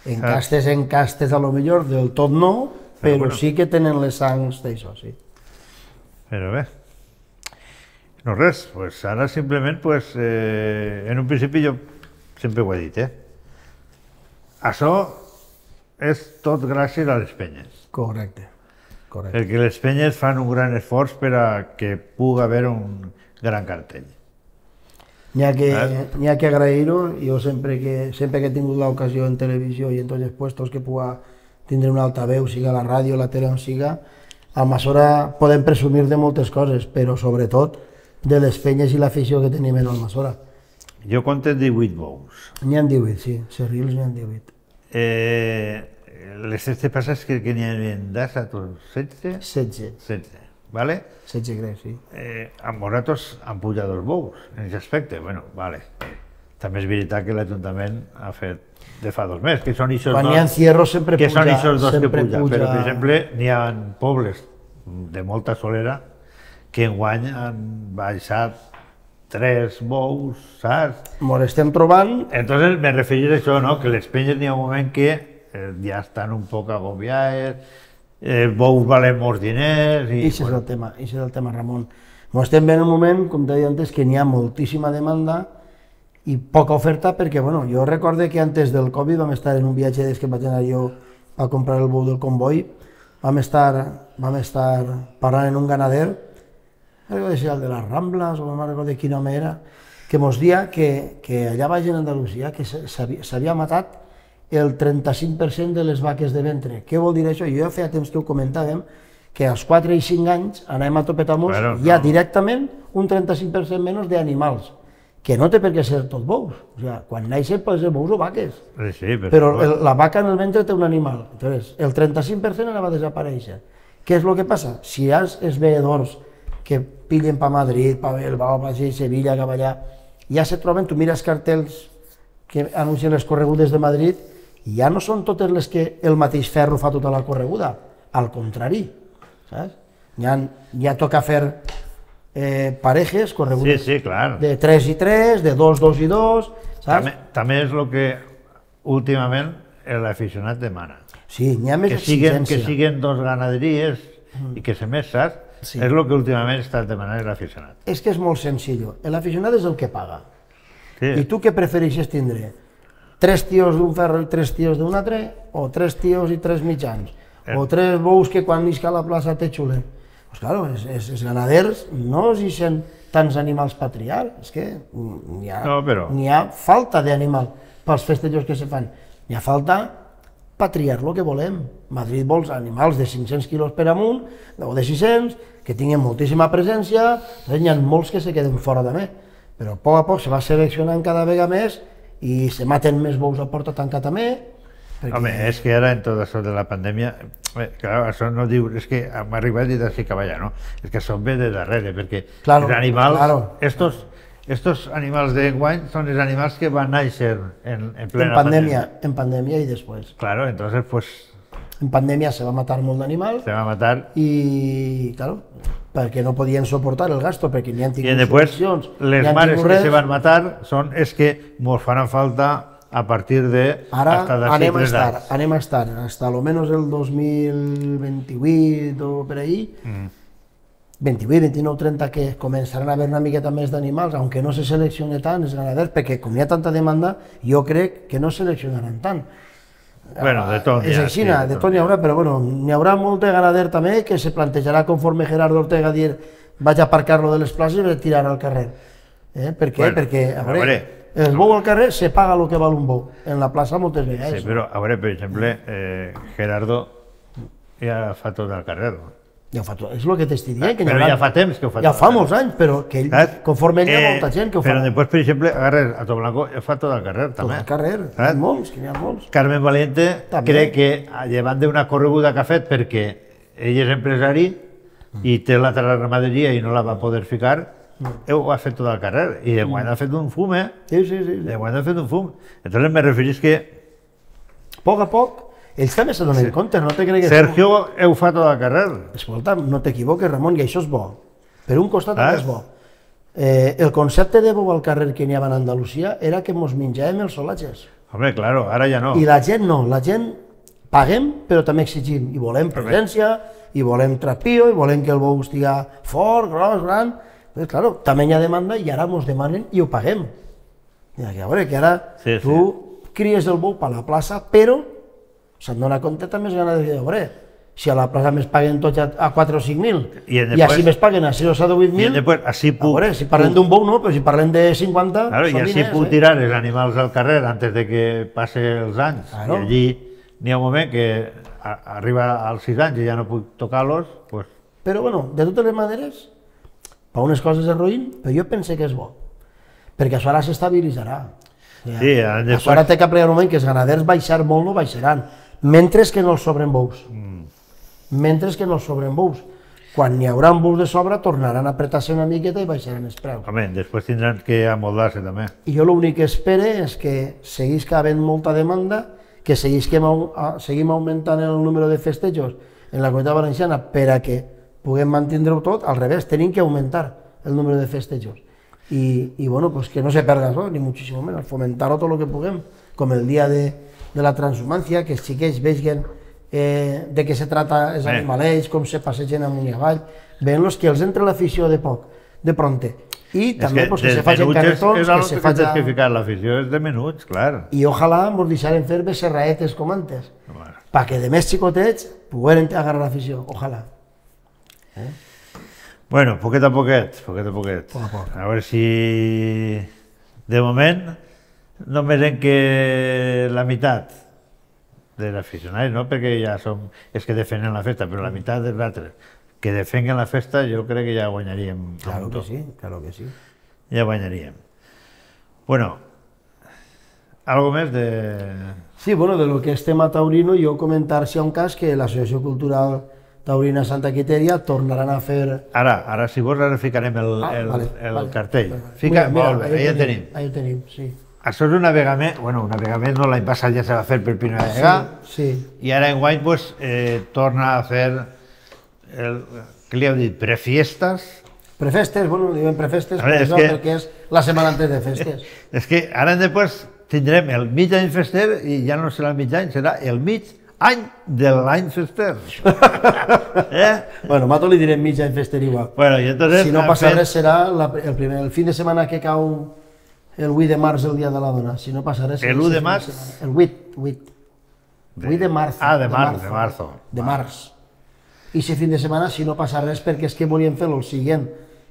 Encastes a lo millor del tot no, però sí que tenen les sangs d'això, sí. Però bé. No res, pues ara simplement, en un principi jo sempre ho he dit, això és tot gràcies a les penyes. Correcte. Perquè les penyes fan un gran esforç per a que pugui haver un gran cartell. N'hi ha que agrair-ho. Jo sempre que he tingut l'ocasió en televisió i en tots els puestos que pugui tindre un altaveu, siga la ràdio, la tele on siga, a Almassora podem presumir de moltes coses, però sobretot de les penyes i l'afició que tenim en Almassora. Jo compte 18 bous. N'hi ha 18, sí. Serrils n'hi ha 18. les 16 passes que n'hi havia d'assa, 16? 16. 16, ¿vale? 16 crec, sí. Amb vosaltres han pujat els bous, en aquest aspecte, bueno, vale. També és veritat que l'Ajuntament ha fet de fa 2 mesos, que són ixos Quan hi ha encierros sempre puja. que són ixos dos que puja, puja. però per exemple n'hi ha pobles de molta solera que enguany han baixat 3 bous, saps? Mos estem trobant... Entonces me referís a això, no? Que les penyes n'hi ha un moment que ja estan un poc agobiades, bous valen molts diners... I Això és el tema, Ramon. Mos estem veient un moment, com t'he dit antes, que n'hi ha moltíssima demanda i poca oferta perquè, bueno, jo recordo que antes del Covid vam estar en un viatge des que vaig anar jo a comprar el bou del comboi, vam estar parlant en un ganader, no sé si el de les Rambles o no recordo quin home era, que mos dia que allà baix en Andalusia que s'havia matat el 35% de les vaques de ventre. Què vol dir això? Jo ja feia temps que ho comentàvem, que als 4 i 5 anys anem a topetamos, hi ha directament un 35% menys d'animals, que no té per què ser tot bous. O sigui, quan naixen poden ser bous o vaques, sí, però la vaca en el ventre té un animal. Entonces, el 35% anava a desaparèixer. Què és el que passa? Si hi ha els veedors que pillen per Madrid, per Bilbao, per Sevilla, cap allà, ja se troben, tu mires cartells que anuncien les corregudes de Madrid i ja no són totes les que el mateix ferro fa tota la correguda, al contrari, saps? Ja toca fer parejes, corregudes de 3 i 3, de 2, 2 i 2, saps? També és el que últimament l'aficionat demana. Sí, n'hi ha més exigència. Que siguin 2 ganaderies i que se més, saps? És el que últimament està demanant l'aficionat. És que és molt senzill. L'aficionat és el que paga. I tu què prefereixes tindre? 3 tios d'un ferro i 3 tios d'un altre? O 3 tios i 3 mitjans? O 3 bous que quan nisca a la plaça te xulen? Doncs clar, els ganaders no es deixen tants animals per triar, és que n'hi ha falta d'animal pels festejos que se fan, n'hi ha falta per triar el que volem. Madrid vols animals de 500 quilos per amunt, o de 600, que tinguin moltíssima presència, n'hi ha molts que se queden fora també, però a poc se va seleccionant cada vegada més i se maten més bous a porta tancat també. Home, és que ara en tot això de la pandèmia, clar, això no diu, és que m'ha arribat i d'ací cap allà, no? És que això ve de darrere, perquè els animals, estos animals d'enguany són els animals que van néixer en plena pandèmia. En pandèmia i després. Claro, entonces pues... En pandèmia se va matar molt d'animals. Se va matar. I, claro, perquè no podien soportar el gasto, perquè n'hi han tingut subvencions. I després, les mares que se van matar són els que mos faran falta a partir de... Ara anem a estar, hasta almenys el 2028 o per ahí, 28, 29, 30, que començaran a haver una miqueta més d'animals, aunque no se seleccione tant els ganaders, perquè com hi ha tanta demanda, jo crec que no seleccionaran tant. Bueno, de tot és així, de tot n'hi haurà, però bueno, n'hi haurà molt de ganader també que se plantejarà conforme Gerardo Ortega dir vaig a aparcar-lo de les places i vaig tirar al carrer. Per què? Perquè, a veure, el bou al carrer se paga el que val un bou, en la plaça moltes vegades. Sí, però, a veure, per exemple, Gerardo ja fa tot al carrer. Ja fa tot, és el que t'estic dient. Però ja fa temps que ho fa tot. Ja fa molts anys, però que conforme ell hi ha molta gent que ho fa. Però després, per exemple, agarres a Toblanco, fa tot al carrer, també. Tot al carrer, n'hi ha molts, que n'hi ha molts. Carmen Valiente crec que, llevant d'una correguda que ha fet, perquè ell és empresari i té la ramaderia i no la va poder ficar, ho ha fet tot al carrer, i enguany ha fet un fum, Sí. Enguany ha fet un fum. Entonces me referís que... A poc, ells també se donen compte, no te cregues... Sergio ho fa tot al carrer. Escolta, no t'equivoques, Ramon, i això és bo. Per un costat també és bo. El concepte de bou al carrer que n'hi havia a Andalusia era que mos menjàvem els solatges. Home, claro, ara ja no. I la gent no, la gent paguem, però també exigim. I volem presència, i volem trapio, i volem que el bou estigui fort, gros, gran... Pues, claro, també hi ha demanda i ara mos demanen i ho paguem. A veure, que ara tu cries el bou per la plaça, però se'n dona compte també els ganaders de veure. Si a la plaça més paguen tots a 4 o 5.000 i així més paguen a 6 o 7 o 8.000, a veure, si parlem d'un bou no, però si parlem de 50, i així puc tirar els animals al carrer antes de que passe els anys. I allí n'hi ha un moment que arriba als 6 anys i ja no puc tocar-los. Però bueno, de totes les maneres, per unes coses és ruïn, però jo pense que és bo, perquè això ara s'estabilitzarà. Això ara té que plegar un moment que els ganaders baixar molt no baixaran, mentre que no els sobren bous. Mentre que no els sobren bous. Quan n'hi haurà bous de sobre, tornaran a apretar-se una miqueta i baixaran els preus. Home, després tindran que amoldar-se també. I jo l'únic que espero és que seguís havent molta demanda, que seguim augmentant el número de festejos en la Comunitat Valenciana per a que puguem mantenir-ho tot, al revés, tenim que augmentar el número de festejos. I bueno, pues que no se perda això, ni muchísimo menos, fomentar-ho tot el que puguem, com el dia de la transhumancia, que els xiquets vegin de què se trata els animalets, com se passegen amunt i avall, veient-los que els entra l'afició de poc, de pronte. I també que se facin carretons, que se facin... És que ficar l'afició és de menuts, clar. I ojalà ens deixaren fer becerraetes com antes, perquè de més xicotets pogueren agarrar l'afició, ojalà. Bueno, poquet a poquet, poquet a poquet. A veure si de moment només en que la meitat dels aficionats, no perquè ja som els que defenen la festa, però la meitat dels altres que defenguen la festa, jo crec que ja guanyaríem. Claro que sí, claro que sí. Ja guanyaríem. Bueno, algo més de... Sí, bueno, de lo que és tema taurino, jo comentar si hi ha un cas que l'Associació Cultural Taurina Santa Quiteria tornaran a fer... Ara, si vols, ara ficarem el cartell. Fica, molt bé, ja tenim. Ahí ho tenim, sí. Això és una vegada més, bueno, una vegada més, no, l'any passat ja se va fer per primera vegada, i ara enguany pues, torna a fer, què li heu dit, prefiestes? Prefestes, bueno, diuen prefestes, perquè és la setmana antes de festes. És que ara després tindrem el mig any fester i ja no serà el mig any, serà el mig any de l'any fester. Bueno, Mato li direm mig any fester igual. Bueno, i entonces... Si no passa res serà el fin de setmana que cau el 8 de març, el dia de la dona. Si no passa res... El 1 de març? El 8 de març. Ah, de març. De març. I si fin de setmana, si no passa res, perquè és que volíem fer el següent,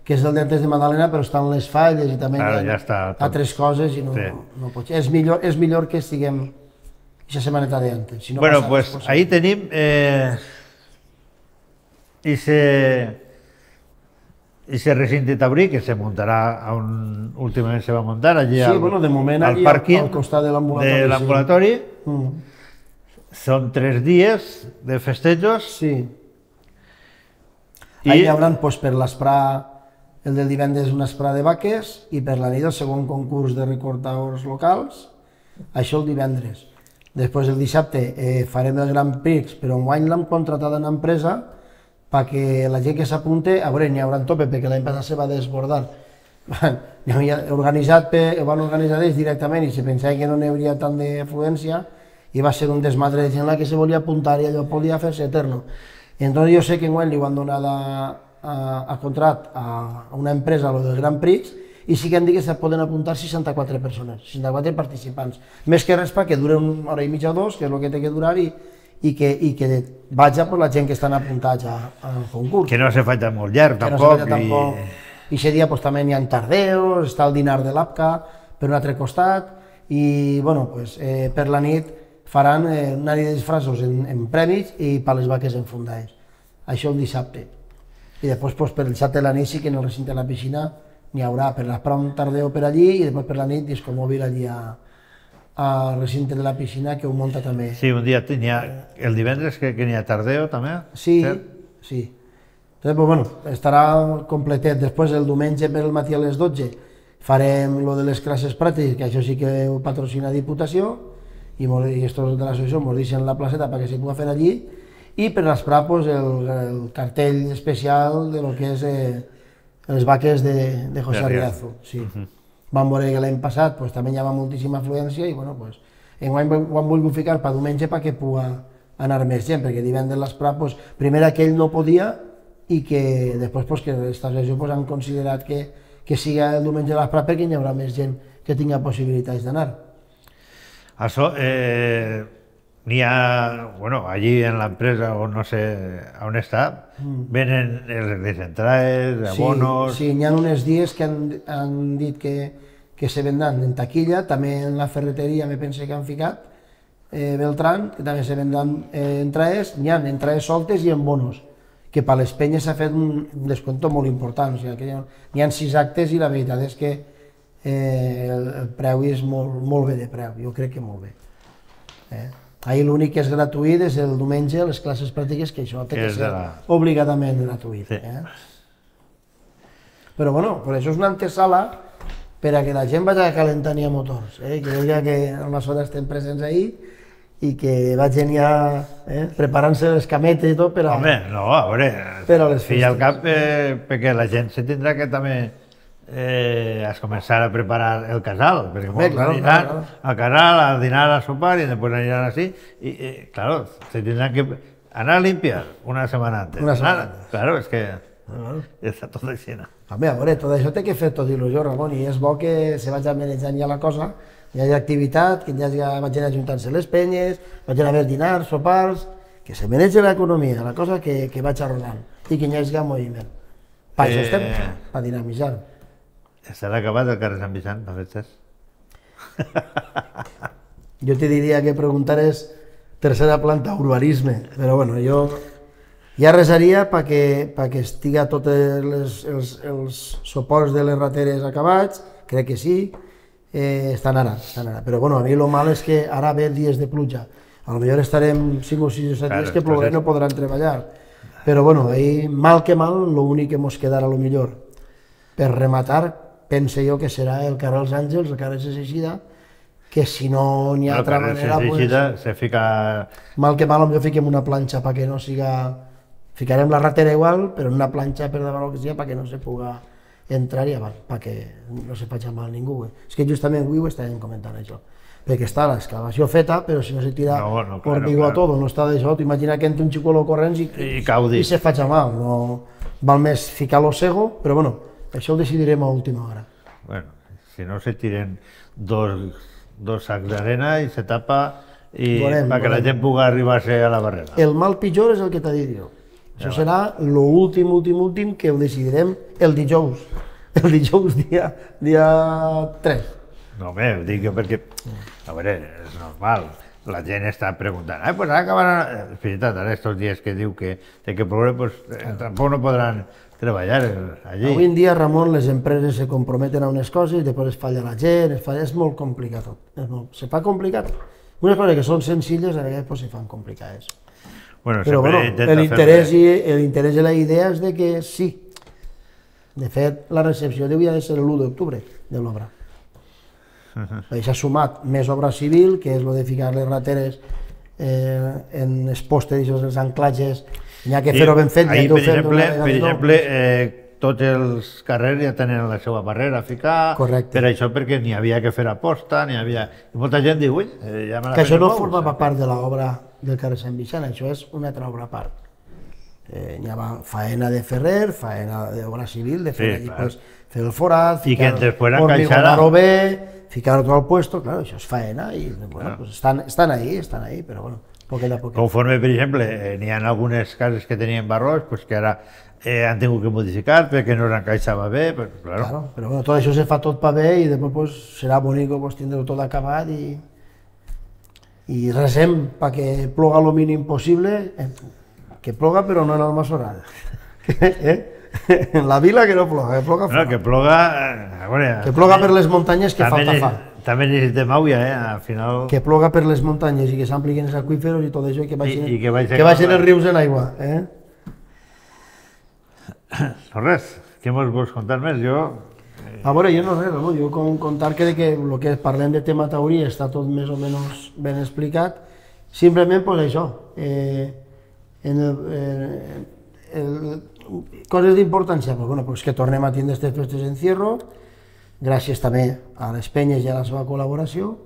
que és el d'antes de Madalena, però estan les falles i també hi ha altres coses i no pot ser. És millor que estiguem aquesta setmaneta d'antes. Bueno, pues ahí tenim ese recinte taurí que se muntarà últimament se va muntar allí al pàrquing de l'ambulatori. Són 3 dies de festejos. Sí. Ahí hi haurà per l'esprà, el del divendres un esprà de vaques i per la nit el segon concurs de recortadors locals, això el divendres. Després el dissabte farem el Grand Prix, però enguany l'hem contratat en empresa perquè la gent que s'apunte, a veure, n'hi haurà tope, perquè l'any passat se va desbordar. Van organitzar ells directament i se pensava que no n'hi hauria tant d'afluència i va ser un desmadre de gent que se volia apuntar i allò podia fer-se eterno. Entonces jo sé que enguany li van donar a contrat a una empresa lo del Grand Prix i sí que han dit que se poden apuntar 64 persones, 64 participants. Més que res perquè dura una hora i mitja o 2, que és el que té que durar i que vaja per la gent que estan apuntats al concurs. Que no se faci molt llarg, tampoc. I aquest dia també n'hi ha tardeos, està el dinar de l'APCA per un altre costat i per la nit faran una nit de disfressos en premis i per les vaques enfundades. Això el dissabte. I després per el dissabte de la nit sí que en el recinte de la piscina n'hi haurà per l'esprà un tardeo per allí i després per la nit disco mòbil allí al recinte de la piscina que ho munta també. Sí, un dia el divendres que n'hi ha tardeo també? Sí, sí. Entonces, estarà completet. Després el diumenge per el matí a les 12 farem lo de les classes pràctiques, que això sí que ho patrocina Diputació i estos de l'associació ens deixen la placeta perquè se pugui fer allí i per l'esprà el cartell especial de lo que és les vaques de José Arriazu. Vam veure que l'any passat també hi havia moltíssima afluència i enguany ho han volgut ficar per diumenge perquè pugui anar més gent, perquè divendres l'esprà primer aquell no podia i que després que l'associació han considerat que sigui el diumenge de l'esprà perquè hi haurà més gent que tingui possibilitats d'anar. Això n'hi ha, allí en l'empresa o no sé on està, venen les entrades, abonos... Sí, n'hi ha uns dies que han dit que se vendran en taquilla, també en la ferreteria me pense que han ficat, Beltrán, que també se vendran entrades, n'hi ha entrades soltes i en bonos, que per les penyes s'ha fet un descompte molt important, n'hi ha 6 actes i la veritat és que el preu és molt bé de preu, jo crec que molt bé. Ahir l'únic que és gratuït és el diumenge, les classes pràctiques, que això té que ser obligatament gratuït. Però bueno, per això és una antesala per a que la gent vagi calentant ja motors, que vegi que al Masora estem presents ahir i que vagin ja preparant-se les cametes i tot per a... Home, no, a veure, fi al cap, perquè la gent se tindrà que també has començar a preparar el casal, perquè molts aniran al casal, a dinar, a sopar i després aniran així i, claro, se tindran que anar a limpiar una setmana antes. Claro, és que està tot així. Home, a veure, tot això té que fer tot il·lusió, Ramon, i és bo que se vagi manejant ja la cosa, hi hagi activitat, que vagin ajuntant-se les penyes, vagin a haver dinars, sopars, que se manegi l'economia, la cosa que vaig rodant i que hi hagi moviment. Per això estem, per dinamitzar. Estarà acabat el carrer Sant Vicent, per festes? Jo te diria que preguntares tercera planta urbanisme, però bueno, jo ja resaria perquè estiga tots els suports de les rateres acabats, crec que sí, estan ara. Però bueno, a mi el mal és que ara ve dies de pluja, potser estarem 5 o 6 o 7 dies que plourà i no podran treballar, però bueno, mal que mal, l'únic que ens quedarà millor per rematar, pense jo que serà el carrer Els Àngels, el carrer Seixida, que si no n'hi ha altra manera, mal que mal, potser fiquem una planxa perquè no siga... Ficarem la ratera igual, però en una planxa per davant que sigui perquè no se puga entrar i avant, perquè no se faci mal a ningú. És que justament avui ho estàvem comentant això, perquè està l'excavació feta, però si no se tira hormigó a tot, no està d'això, t'imagina que entra un xicolo corrents i se faci mal. Val més ficar l'ossego, però bueno, això ho decidirem a última hora. Bueno, si no se tiren dos sacs d'arena i se tapa perquè la gent pugui arribar-se a la barrera. El mal pitjor és el que t'ha dit jo. Això serà l'últim que ho decidirem el dijous dia 3. No, home, ho dic perquè, a veure, és normal, la gent està preguntant, pues ara acabaran, és veritat, ara estos dies que diu que té que ploure, pues tampoc no podran treballar allí. Avui en dia, Ramon, les empreses se comprometen a unes coses, després es falla la gent, és molt complicat tot, se fa complicat. Unes coses que són senzilles, a vegades se fan complicades. Però bueno, l'interès i la idea és de que sí. De fet, la recepció hauria de ser l'1 d'octubre de l'obra. S'ha sumat més obra civil, que és el de ficar les rateres en els postes i els anclatges, n'hi ha que fer-ho ben fet. Per exemple, tots els carrers ja tenen la seva barrera a ficar, per això perquè n'hi havia que fer aposta, n'hi havia... I molta gent diu, ui, ja me la fem. Que això no formava part de l'obra del carrer Sant Vicent, això és una altra obra a part. N'hi ha faena de ferrer, faena d'obra civil, de fer el forat, ficar hormigonaro bé, ficar tot al puesto, clar, això és faena i estan ahí, però bueno, poquet a poquet. Conforme, per exemple, n'hi ha algunes cases que tenien barrots, que ara han tingut que modificar perquè no s'encaixava bé, però bueno, tot això se fa tot pa bé i després serà bonic tindre-ho tot acabat i resem perquè ploga el mínim possible, que ploga però no en el Masora. En la vila que no ploga, que ploga fora. Que ploga... Que ploga per les muntanyes que falta fa. També necessitem aigua, al final... Que ploga per les muntanyes i que s'ampliquen els aqüíferos i tot això i que vagin els rius en aigua. No res, què mos vols contar més? A veure, jo no res, jo contar que el que parlem de tema teoria està tot més o menys ben explicat, simplement pues això, coses d'importància, pues que tornem a tindre aquestes festes d'encierro, gràcies també a les penyes i a la seva col·laboració,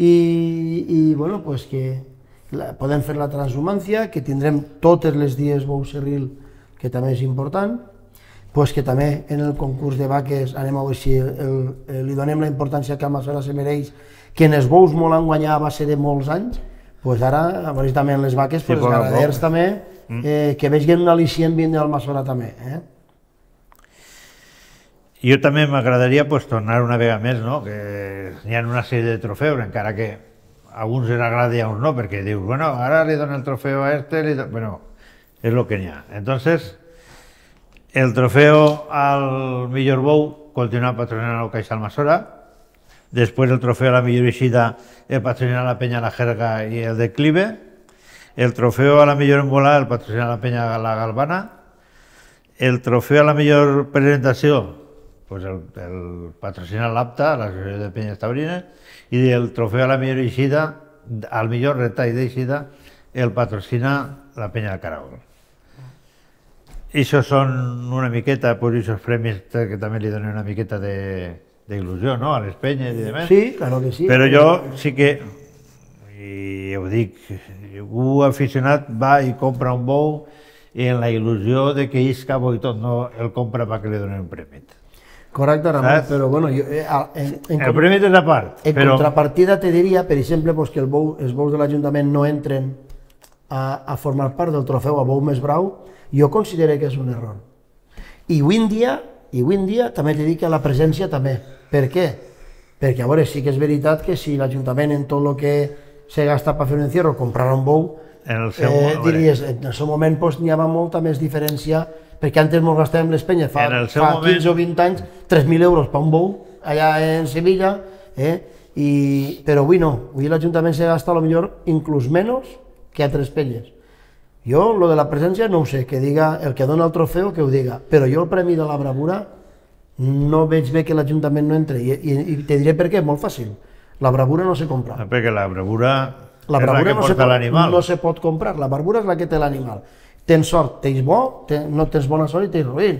i bueno, pues que podem fer la transhumància, que tindrem totes les dies bou serril, que també és important, pues que també en el concurs de vaques anem a veure si li donem la importància que a Masora se mereix, que en els bous molt han guanyat a base de molts anys, pues ara, a veure també en les vaques, els ganaders també, que vegin un al·licient vindre al Masora també. Jo també m'agradaria tornar una vegada més, que hi ha una sèrie de trofeus, encara que a alguns els agrada i a uns no, perquè dius, bueno, ara li dono el trofeu a bueno, és el que n'hi ha. Entonces, el trofeo al millor bou continua patrocinant el Caixal Masora, Después el trofeo a la millor eixida el patrocina la Peña La Jerga y el Declive. El trofeo a la millor embolada el patrocina la Peña La Galvana. El trofeo a la millor presentació pues el patrocina l'APTA, l'Associació de Penyes Taurines, i el trofeu a la millor eixida, al millor retall d'eixida, el patrocina la Penya de Caragol. Això són una miqueta, pues, aquests premis que també li donen una miqueta d'il·lusió, no?, a les penyes i demés. Sí, claro que sí. Però jo sí que, i ho dic, un aficionat va i compra un bou i en la il·lusió de que isca bo i tot, no el compra perquè li donen un premi. Correcte, Ramon, però bueno... El premi és a part. En contrapartida te diria, per exemple, que els bous de l'Ajuntament no entren a formar part del trofeu a bou més brau, jo considero que és un error. I avui en dia també te dic que la presència també. Per què? Perquè, a veure, sí que és veritat que si l'Ajuntament en tot el que se gasta per fer un encierro comprarà un bou, diries, en el seu moment n'hi havia molta més diferència, perquè antes ens gastàvem les penyes fa 15 o 20 anys 3.000 euros per un bou allà en Sevilla, però avui no, avui l'Ajuntament se gasta potser inclús menys que altres penyes. Jo, lo de la presència, no ho sé, que diga el que dona el trofeu, que ho diga, però jo el premi de la bravura no veig bé que l'Ajuntament no entre, i te diré per què, molt fàcil, la bravura no se compra. Perquè la bravura és la que porta l'animal. No se pot comprar, la bravura és la que té l'animal. Tens sort, tens bo, no tens bona sort i tens ruïn.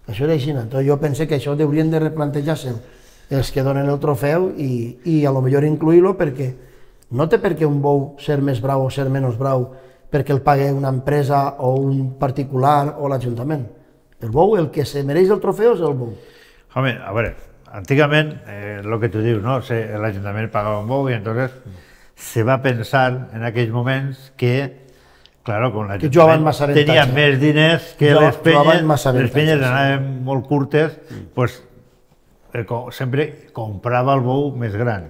Això és així. Entonces jo penso que això haurien de replantejar-se els que donen el trofeu i a lo millor incluir-lo, perquè no té per què un bou ser més brau o ser menys brau perquè el pagui una empresa o un particular o l'Ajuntament. El bou, el que se mereix el trofeu és el bou. Home, a veure, antigament, el que tu dius, no? L'Ajuntament pagava un bou i entonces se va pensar en aquells moments que claro, con l'Ajuntament tenia més diners que les penyes anaven molt curtes, pues sempre comprava el bou més gran,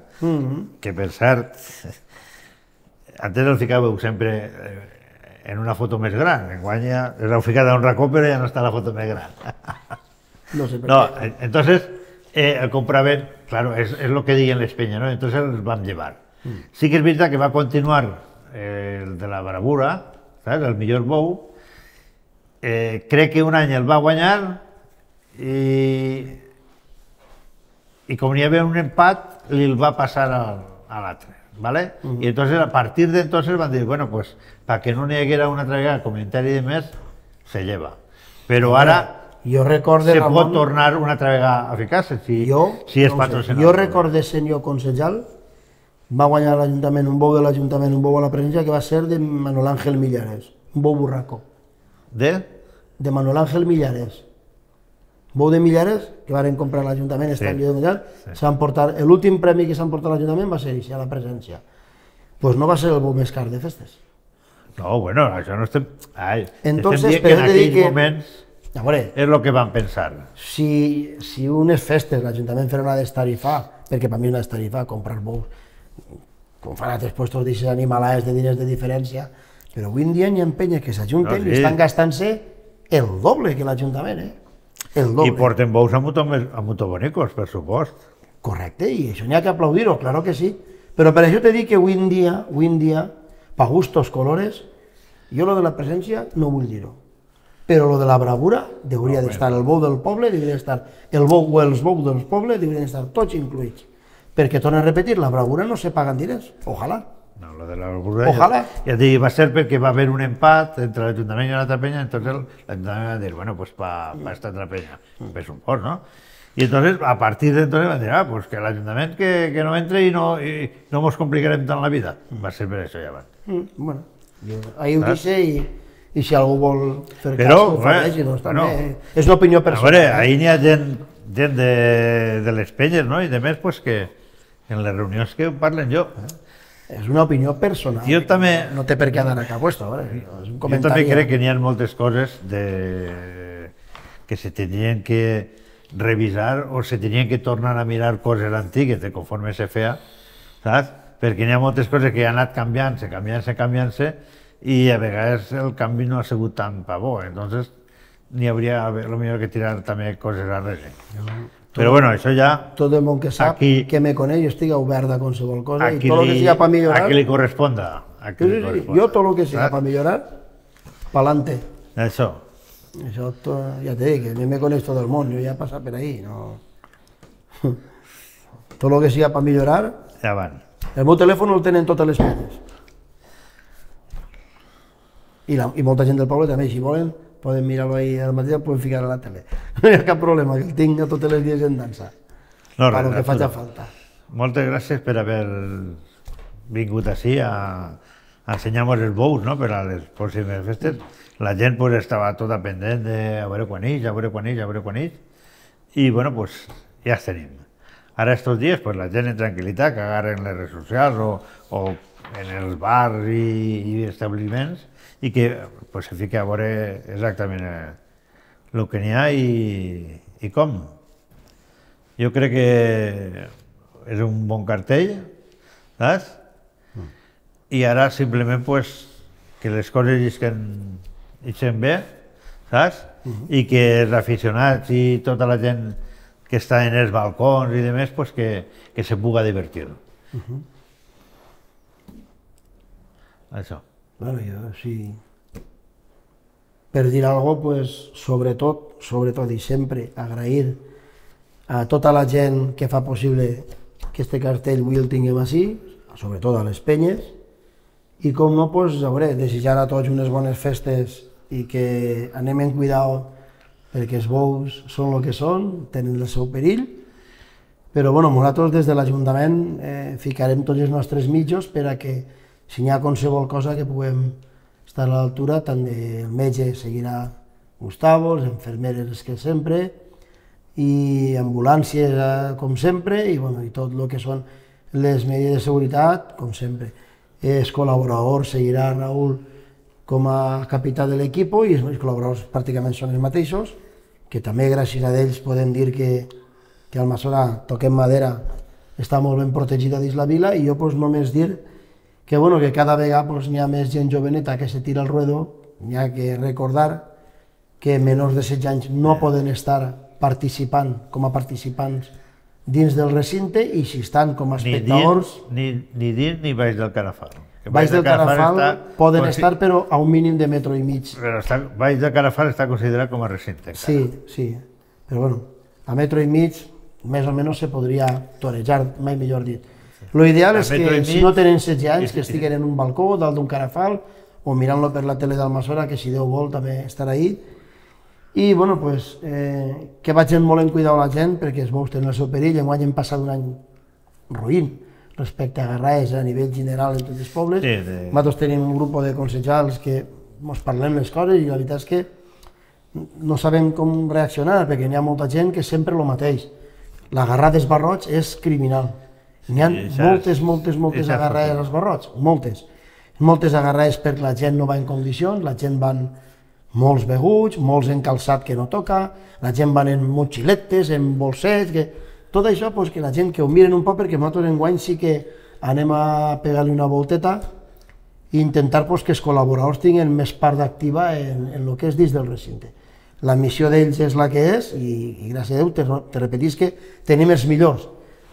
que per cert, antes el ficàveu sempre en una foto més gran, enguany ja l'heu ficat a un racó però ja no està la foto més gran. No sé per què. Entonces el compraven, claro, és el que diuen les penyes, ¿no? Entonces els vam llevar. Sí que és veritat que va continuar el de la bravura, el millor bou, crec que un any el va guanyar i com n'hi havia un empat, li el va passar a l'altre, ¿vale? I entonces a partir de entonces van dir, bueno, pues, para que no n'hi haguera una altra vegada comentari de més, se lleva. Però ara se pot tornar una altra vegada a ficar-se, si és patrocinat. Jo recorde, senyor consellal, va guanyar l'Ajuntament un bou de l'Ajuntament, un bou a la presència, que va ser de Manuel Ángel Millares, un bou burraco. De? De Manuel Ángel Millares. Bou de Millares, que van comprar a l'Ajuntament, s'han portat, l'últim premi que s'han portat a l'Ajuntament va ser això, a la presència. Doncs no va ser el bou més car de festes. No, bueno, això no estem... Entonces, estem dient que en aquells moments és el que van pensar. Si unes festes l'Ajuntament farà una destarifar, perquè per mi una destarifar, comprar bous, com fan altres puestos d'aixes animalades de diners de diferència, però avui en dia hi ha penyes que s'ajunten i estan gastant-se el doble que l'Ajuntament, el doble. I porten bous a muito bonicos, per supost. Correcte, i això n'hi ha que aplaudir-ho, claro que sí. Però per això te dic que avui en dia, pa gustos colores, jo lo de la presència no vull dir-ho. Però lo de la bravura hauria d'estar el bou del poble, hauria d'estar el bou o els bous del poble, haurien d'estar tots incluïts. Perquè, torno a repetir, la bravura no se paga en diners, ojalà. No, lo de la bravura ja dic, va ser perquè va haver un empat entre l'Ajuntament i l'altra penya, entonces l'Ajuntament va dir, bueno, pues pa esta altra penya, per suport, ¿no? Y entonces, a partir de entonces, van dir, pues que l'Ajuntament que no entre i no mos complicarem tant la vida. Va ser per això, ja van. Bueno, ahí ho dice i si algú vol fer cas, ho fareix, doncs també és l'opinió personal. A veure, ahí n'hi ha gent de les penyes, no? I de més, pues que en les reunions que parlen jo. És una opinió personal. Jo també... No té per què anar a cap puesto, és un comentari. Jo també crec que n'hi ha moltes coses que se tenien que revisar o se tenien que tornar a mirar coses antigues de conforme se feia, saps? Perquè n'hi ha moltes coses que han anat canviant-se, i a vegades el canvi no ha sigut tan pa bo, entonces n'hi hauria potser que tirar també coses arrere. Però bueno, això ja... Tot el món que sap Aquí- que me coneix, jo estic obert a qualsevol cosa i Aquí tot el que siga per millorar... a qui li corresponda. A qui Sí, li sí, sí, corresponda. jo tot el que siga Saps? per millorar, pa'lante. Això. Això ja te dic, a mi me coneix tot el món, jo ja he passat per ahí, no... Tot el que siga per millorar, Ja van. el meu telèfon el tenen totes les penyes. I molta gent del poble també, si volen, poden mirar-lo ahí al matí, el poden ficar a la tele. No hi ha cap problema, que el tinc a tots els dies en dansa, No, per lo que faci Arturo, falta. moltes gràcies per haver vingut així a ensenyar-nos els bous, no?, per a les pròximes festes. La gent pues, estava tota pendent de a veure quan ix, a veure quan ix, a veure quan ix. I bueno, pues, ja els tenim. Ara estos dies pues, la gent en tranquil·litat, que agarren les redes socials o en els bars i establiments i que pues, se fiqui a veure exactament el que n'hi ha i com. Jo crec que és un bon cartell, saps? I ara simplement pues, que les coses ixen bé, saps? I que els aficionats i tota la gent que està en els balcons i demés, pues, que se puga divertir. Això. Bueno, jo sí... Per dir alguna cosa, pues, sobretot i sempre agrair a tota la gent que fa possible que este cartell avui el tinguem així, sobretot a les penyes, i com no, pues, a veure, desitjar a tots unes bones festes i que anem en cuidado perquè els bous són el que són, tenen el seu perill, però bueno, nosaltres des de l'Ajuntament ficarem tots els nostres mitjos per a que si hi ha qualsevol cosa que puguem estar a l'altura, tant el metge seguirà Gustavo, les infermeres les que sempre, i ambulàncies com sempre, i, bueno, i tot el que són les mesures de seguretat, com sempre. Els col·laboradors seguirà Raül com a capità de l'equip i els col·laboradors pràcticament són els mateixos, que també gràcies a ells podem dir que Almassora, toquem madera, està molt ben protegida dins la vila, i jo pues, només dir que, bueno, que cada vegada pues, hi ha més gent joveneta que se tira al ruedo, hi ha que recordar que menors de 16 anys no poden estar participant com a participants dins del recinte, i si estan com a espectadors... Ni dins ni baix del Carafal. Baix del Carafal poden estar, però a un mínim de metro i mig. Però baix del Carafal està considerat com a recinte. Sí, sí, però bueno, a metro i mig més o menys se podria torejar, mai millor dit. Lo ideal és que si no tenen 16 anys, que estiguen en un balcó, dalt d'un Carafal, o mirant-lo per la tele d'Almassora, que si Déu vol també estarà ahí. I, bueno, pues, que vagin molt en cuidar la gent, perquè els bous tenen el seu perill. Enguany hem passat un any ruïn respecte a garraes a nivell general en tots els pobles. Nosaltres tenim un grup de consellers que ens parlem les coses i la veritat és que no sabem com reaccionar, perquè hi ha molta gent que sempre el mateix. L'agarrar dels barrots és criminal. N'hi ha moltes agarrades als barrots, moltes. Moltes agarrades perquè la gent no va en condicions, la gent van molts beguts, molts en calçat que no toca, la gent van en motxiletes, en bolsets, tot això pues, que la gent que ho miren un poc, perquè nosaltres enguany sí que anem a pegar-li una volteta i intentar pues, que els col·laboradors tinguin més part activa en el que és dins del recinte. La missió d'ells és la que és i gràcies a Déu te repetís que tenim els millors,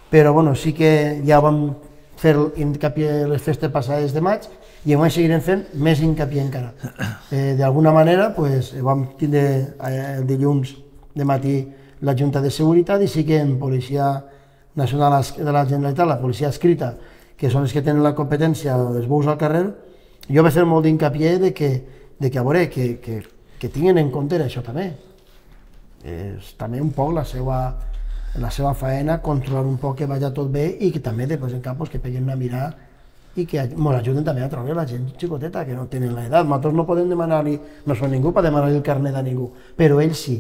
però bueno, sí que ja vam fer hincapié les festes passades de maig i enguany seguirem fent més hincapié encara. D'alguna manera pues, vam tindre el dilluns de matí la Junta de Seguretat i sí que en Policia Nacional de la Generalitat, la policia escrita, que són els que tenen la competència dels bous al carrer, jo vaig fer molt d'incapié de que a veure, que tinguin en compte això també. És també un poc la seva faena, controlar un poc que vagi tot bé i que també després en cap que peguin una mirada i que ens ajuden també a treure la gent xicoteta que no tenen l'edat. Nosaltres no podem demanar-li, no som ningú per demanar-li el carnet a ningú, però ells sí.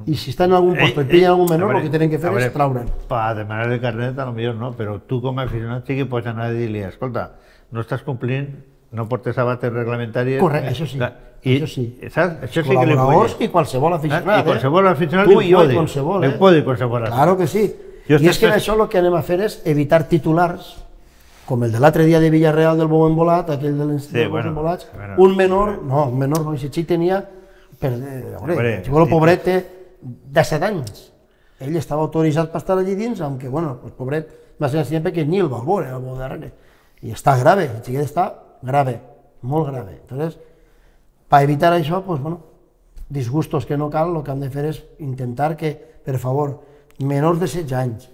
I si estan en algun lloc i pillen algun menor, el que tenen que fer és traure'n. Per demanar el carnet potser no, però tu com a aficionat sí que pots anar a dir-li, escolta, no estàs complint, no portes sabates reglamentàries... Correcte, això sí. Això sí. Saps? Això sí que li col·laboradors i qualsevol aficionat. I qualsevol aficionat tu i jo i qualsevol. Li pot dir qualsevol. Claro que sí. I és que això el que anem a fer és evitar titulars, com el de l'altre dia de Villarreal del bou embolat, aquell dels bous embolats, un menor, no, si xic tenia, el pobret té 17 anys. ell estava autoritzat per estar allí dins, aunque, bueno, pues, pobret, va ser sempre que ni el va veure, el bou darrere. I està grave, el xiquet està grave, molt grave. Entonces, per evitar això, pues, bueno, disgustos que no cal, el que han de fer és intentar que, per favor, menors de 16 anys,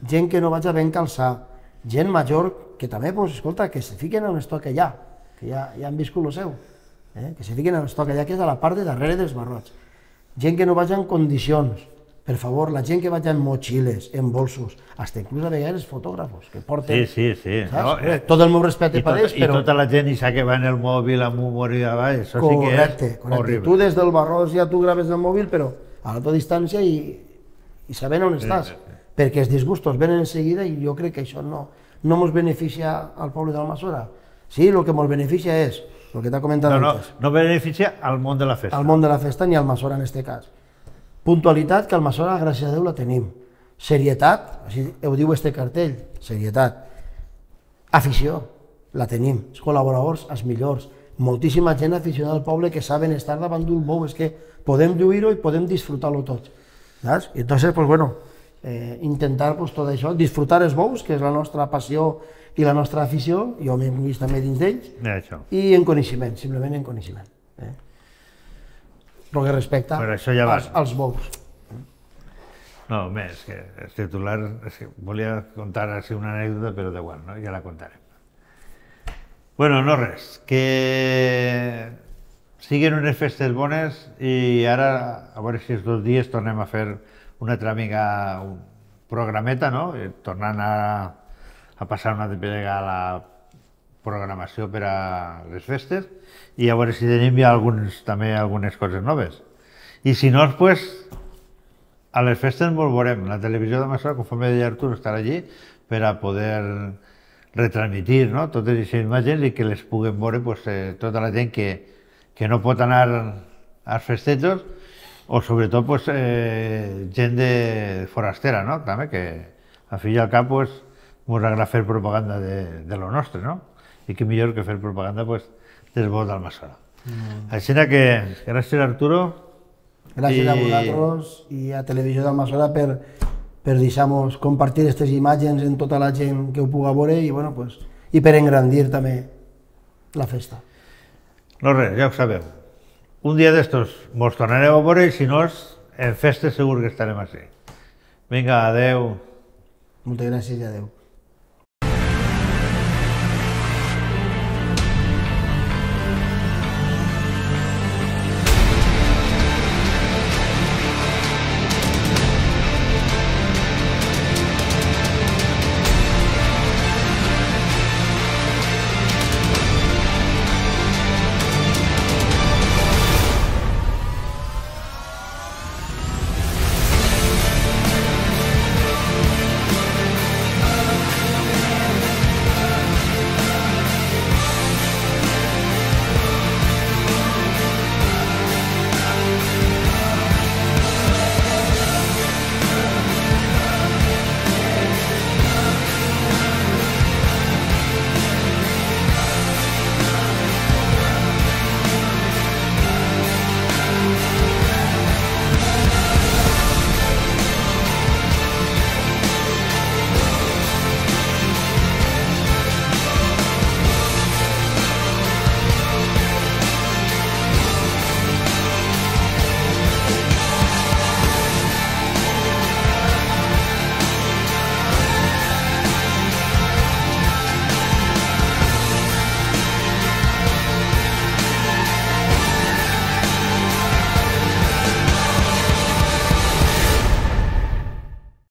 gent que no vagi ben calçar, gent major que també, pues, escolta, que se fiquen en l'estoc allà, que ja han viscut el seu, que se fiquen en l'estoc allà, que és a la part de darrere dels barrots. Gent que no vagi en condicions, per favor, la gent que vagi en motxilles, en bolsos, fins inclús a vegades fotògrafos, que porten... Sí. No, tot el meu respecte per ells, però... I tota la gent que va en el mòbil amb humor i avall, això sí que és horrible. Tu des del barròs ja tu graves el mòbil, però a la tua distància i sabent on estàs, perquè els disgustos venen en seguida i jo crec que això no ens beneficia al poble d'Almassora. Sí, el que ens beneficia és el que t'ha comentat antes. No beneficia al món de la festa. Al món de la festa ni al Almassora en aquest cas. Puntualitat, que al Almassora, gràcies a Déu, la tenim. Serietat, així ho diu este cartell, serietat. Afició, la tenim. Els col·laboradors, els millors. Moltíssima gent aficionada al poble que saben estar davant d'un bou, és que podem lluir-ho i podem disfrutar-lo tots. Saps? I entonces, pues bueno, intentar pues, tot això, disfrutar els bous, que és la nostra passió i la nostra afició, jo m'he vist també dins d'ells, i en coneixement, simplement en coneixement. El que respecta als bous. No, més, que el titular, volia contar així una anècdota, però d'igual, no? Ja la contarem. Bueno, no res, que siguin unes festes bones i ara, a veure si els 2 dies tornem a fer una altra mica un programeta, no? Tornant a passar una altra vegada a la programació per a les festes i a veure si tenim ja també algunes coses noves. I si no, pues, a les festes ens veurem. La televisió d'Almassora, conforme deia Artur, estarà allí per a poder retransmitir totes aquestes imatges i que les puguem veure tota la gent que no pot anar als festejos o sobretot gent forastera, també, que al fi i al cap ens agrada fer propaganda de lo nostre, i que millor que fer propaganda dels bous d'Almassora. Així que gràcies, Arturo. Gràcies a vosaltres i a Televisió d'Almassora per deixar-nos compartir aquestes imatges amb tota la gent que ho puga veure i per engrandir també la festa. No res, ja ho sabeu. Un dia d'estos mos tornareu a veure i si no, en festes segur que estarem així. Vinga, adeu. Moltes gràcies i adeu.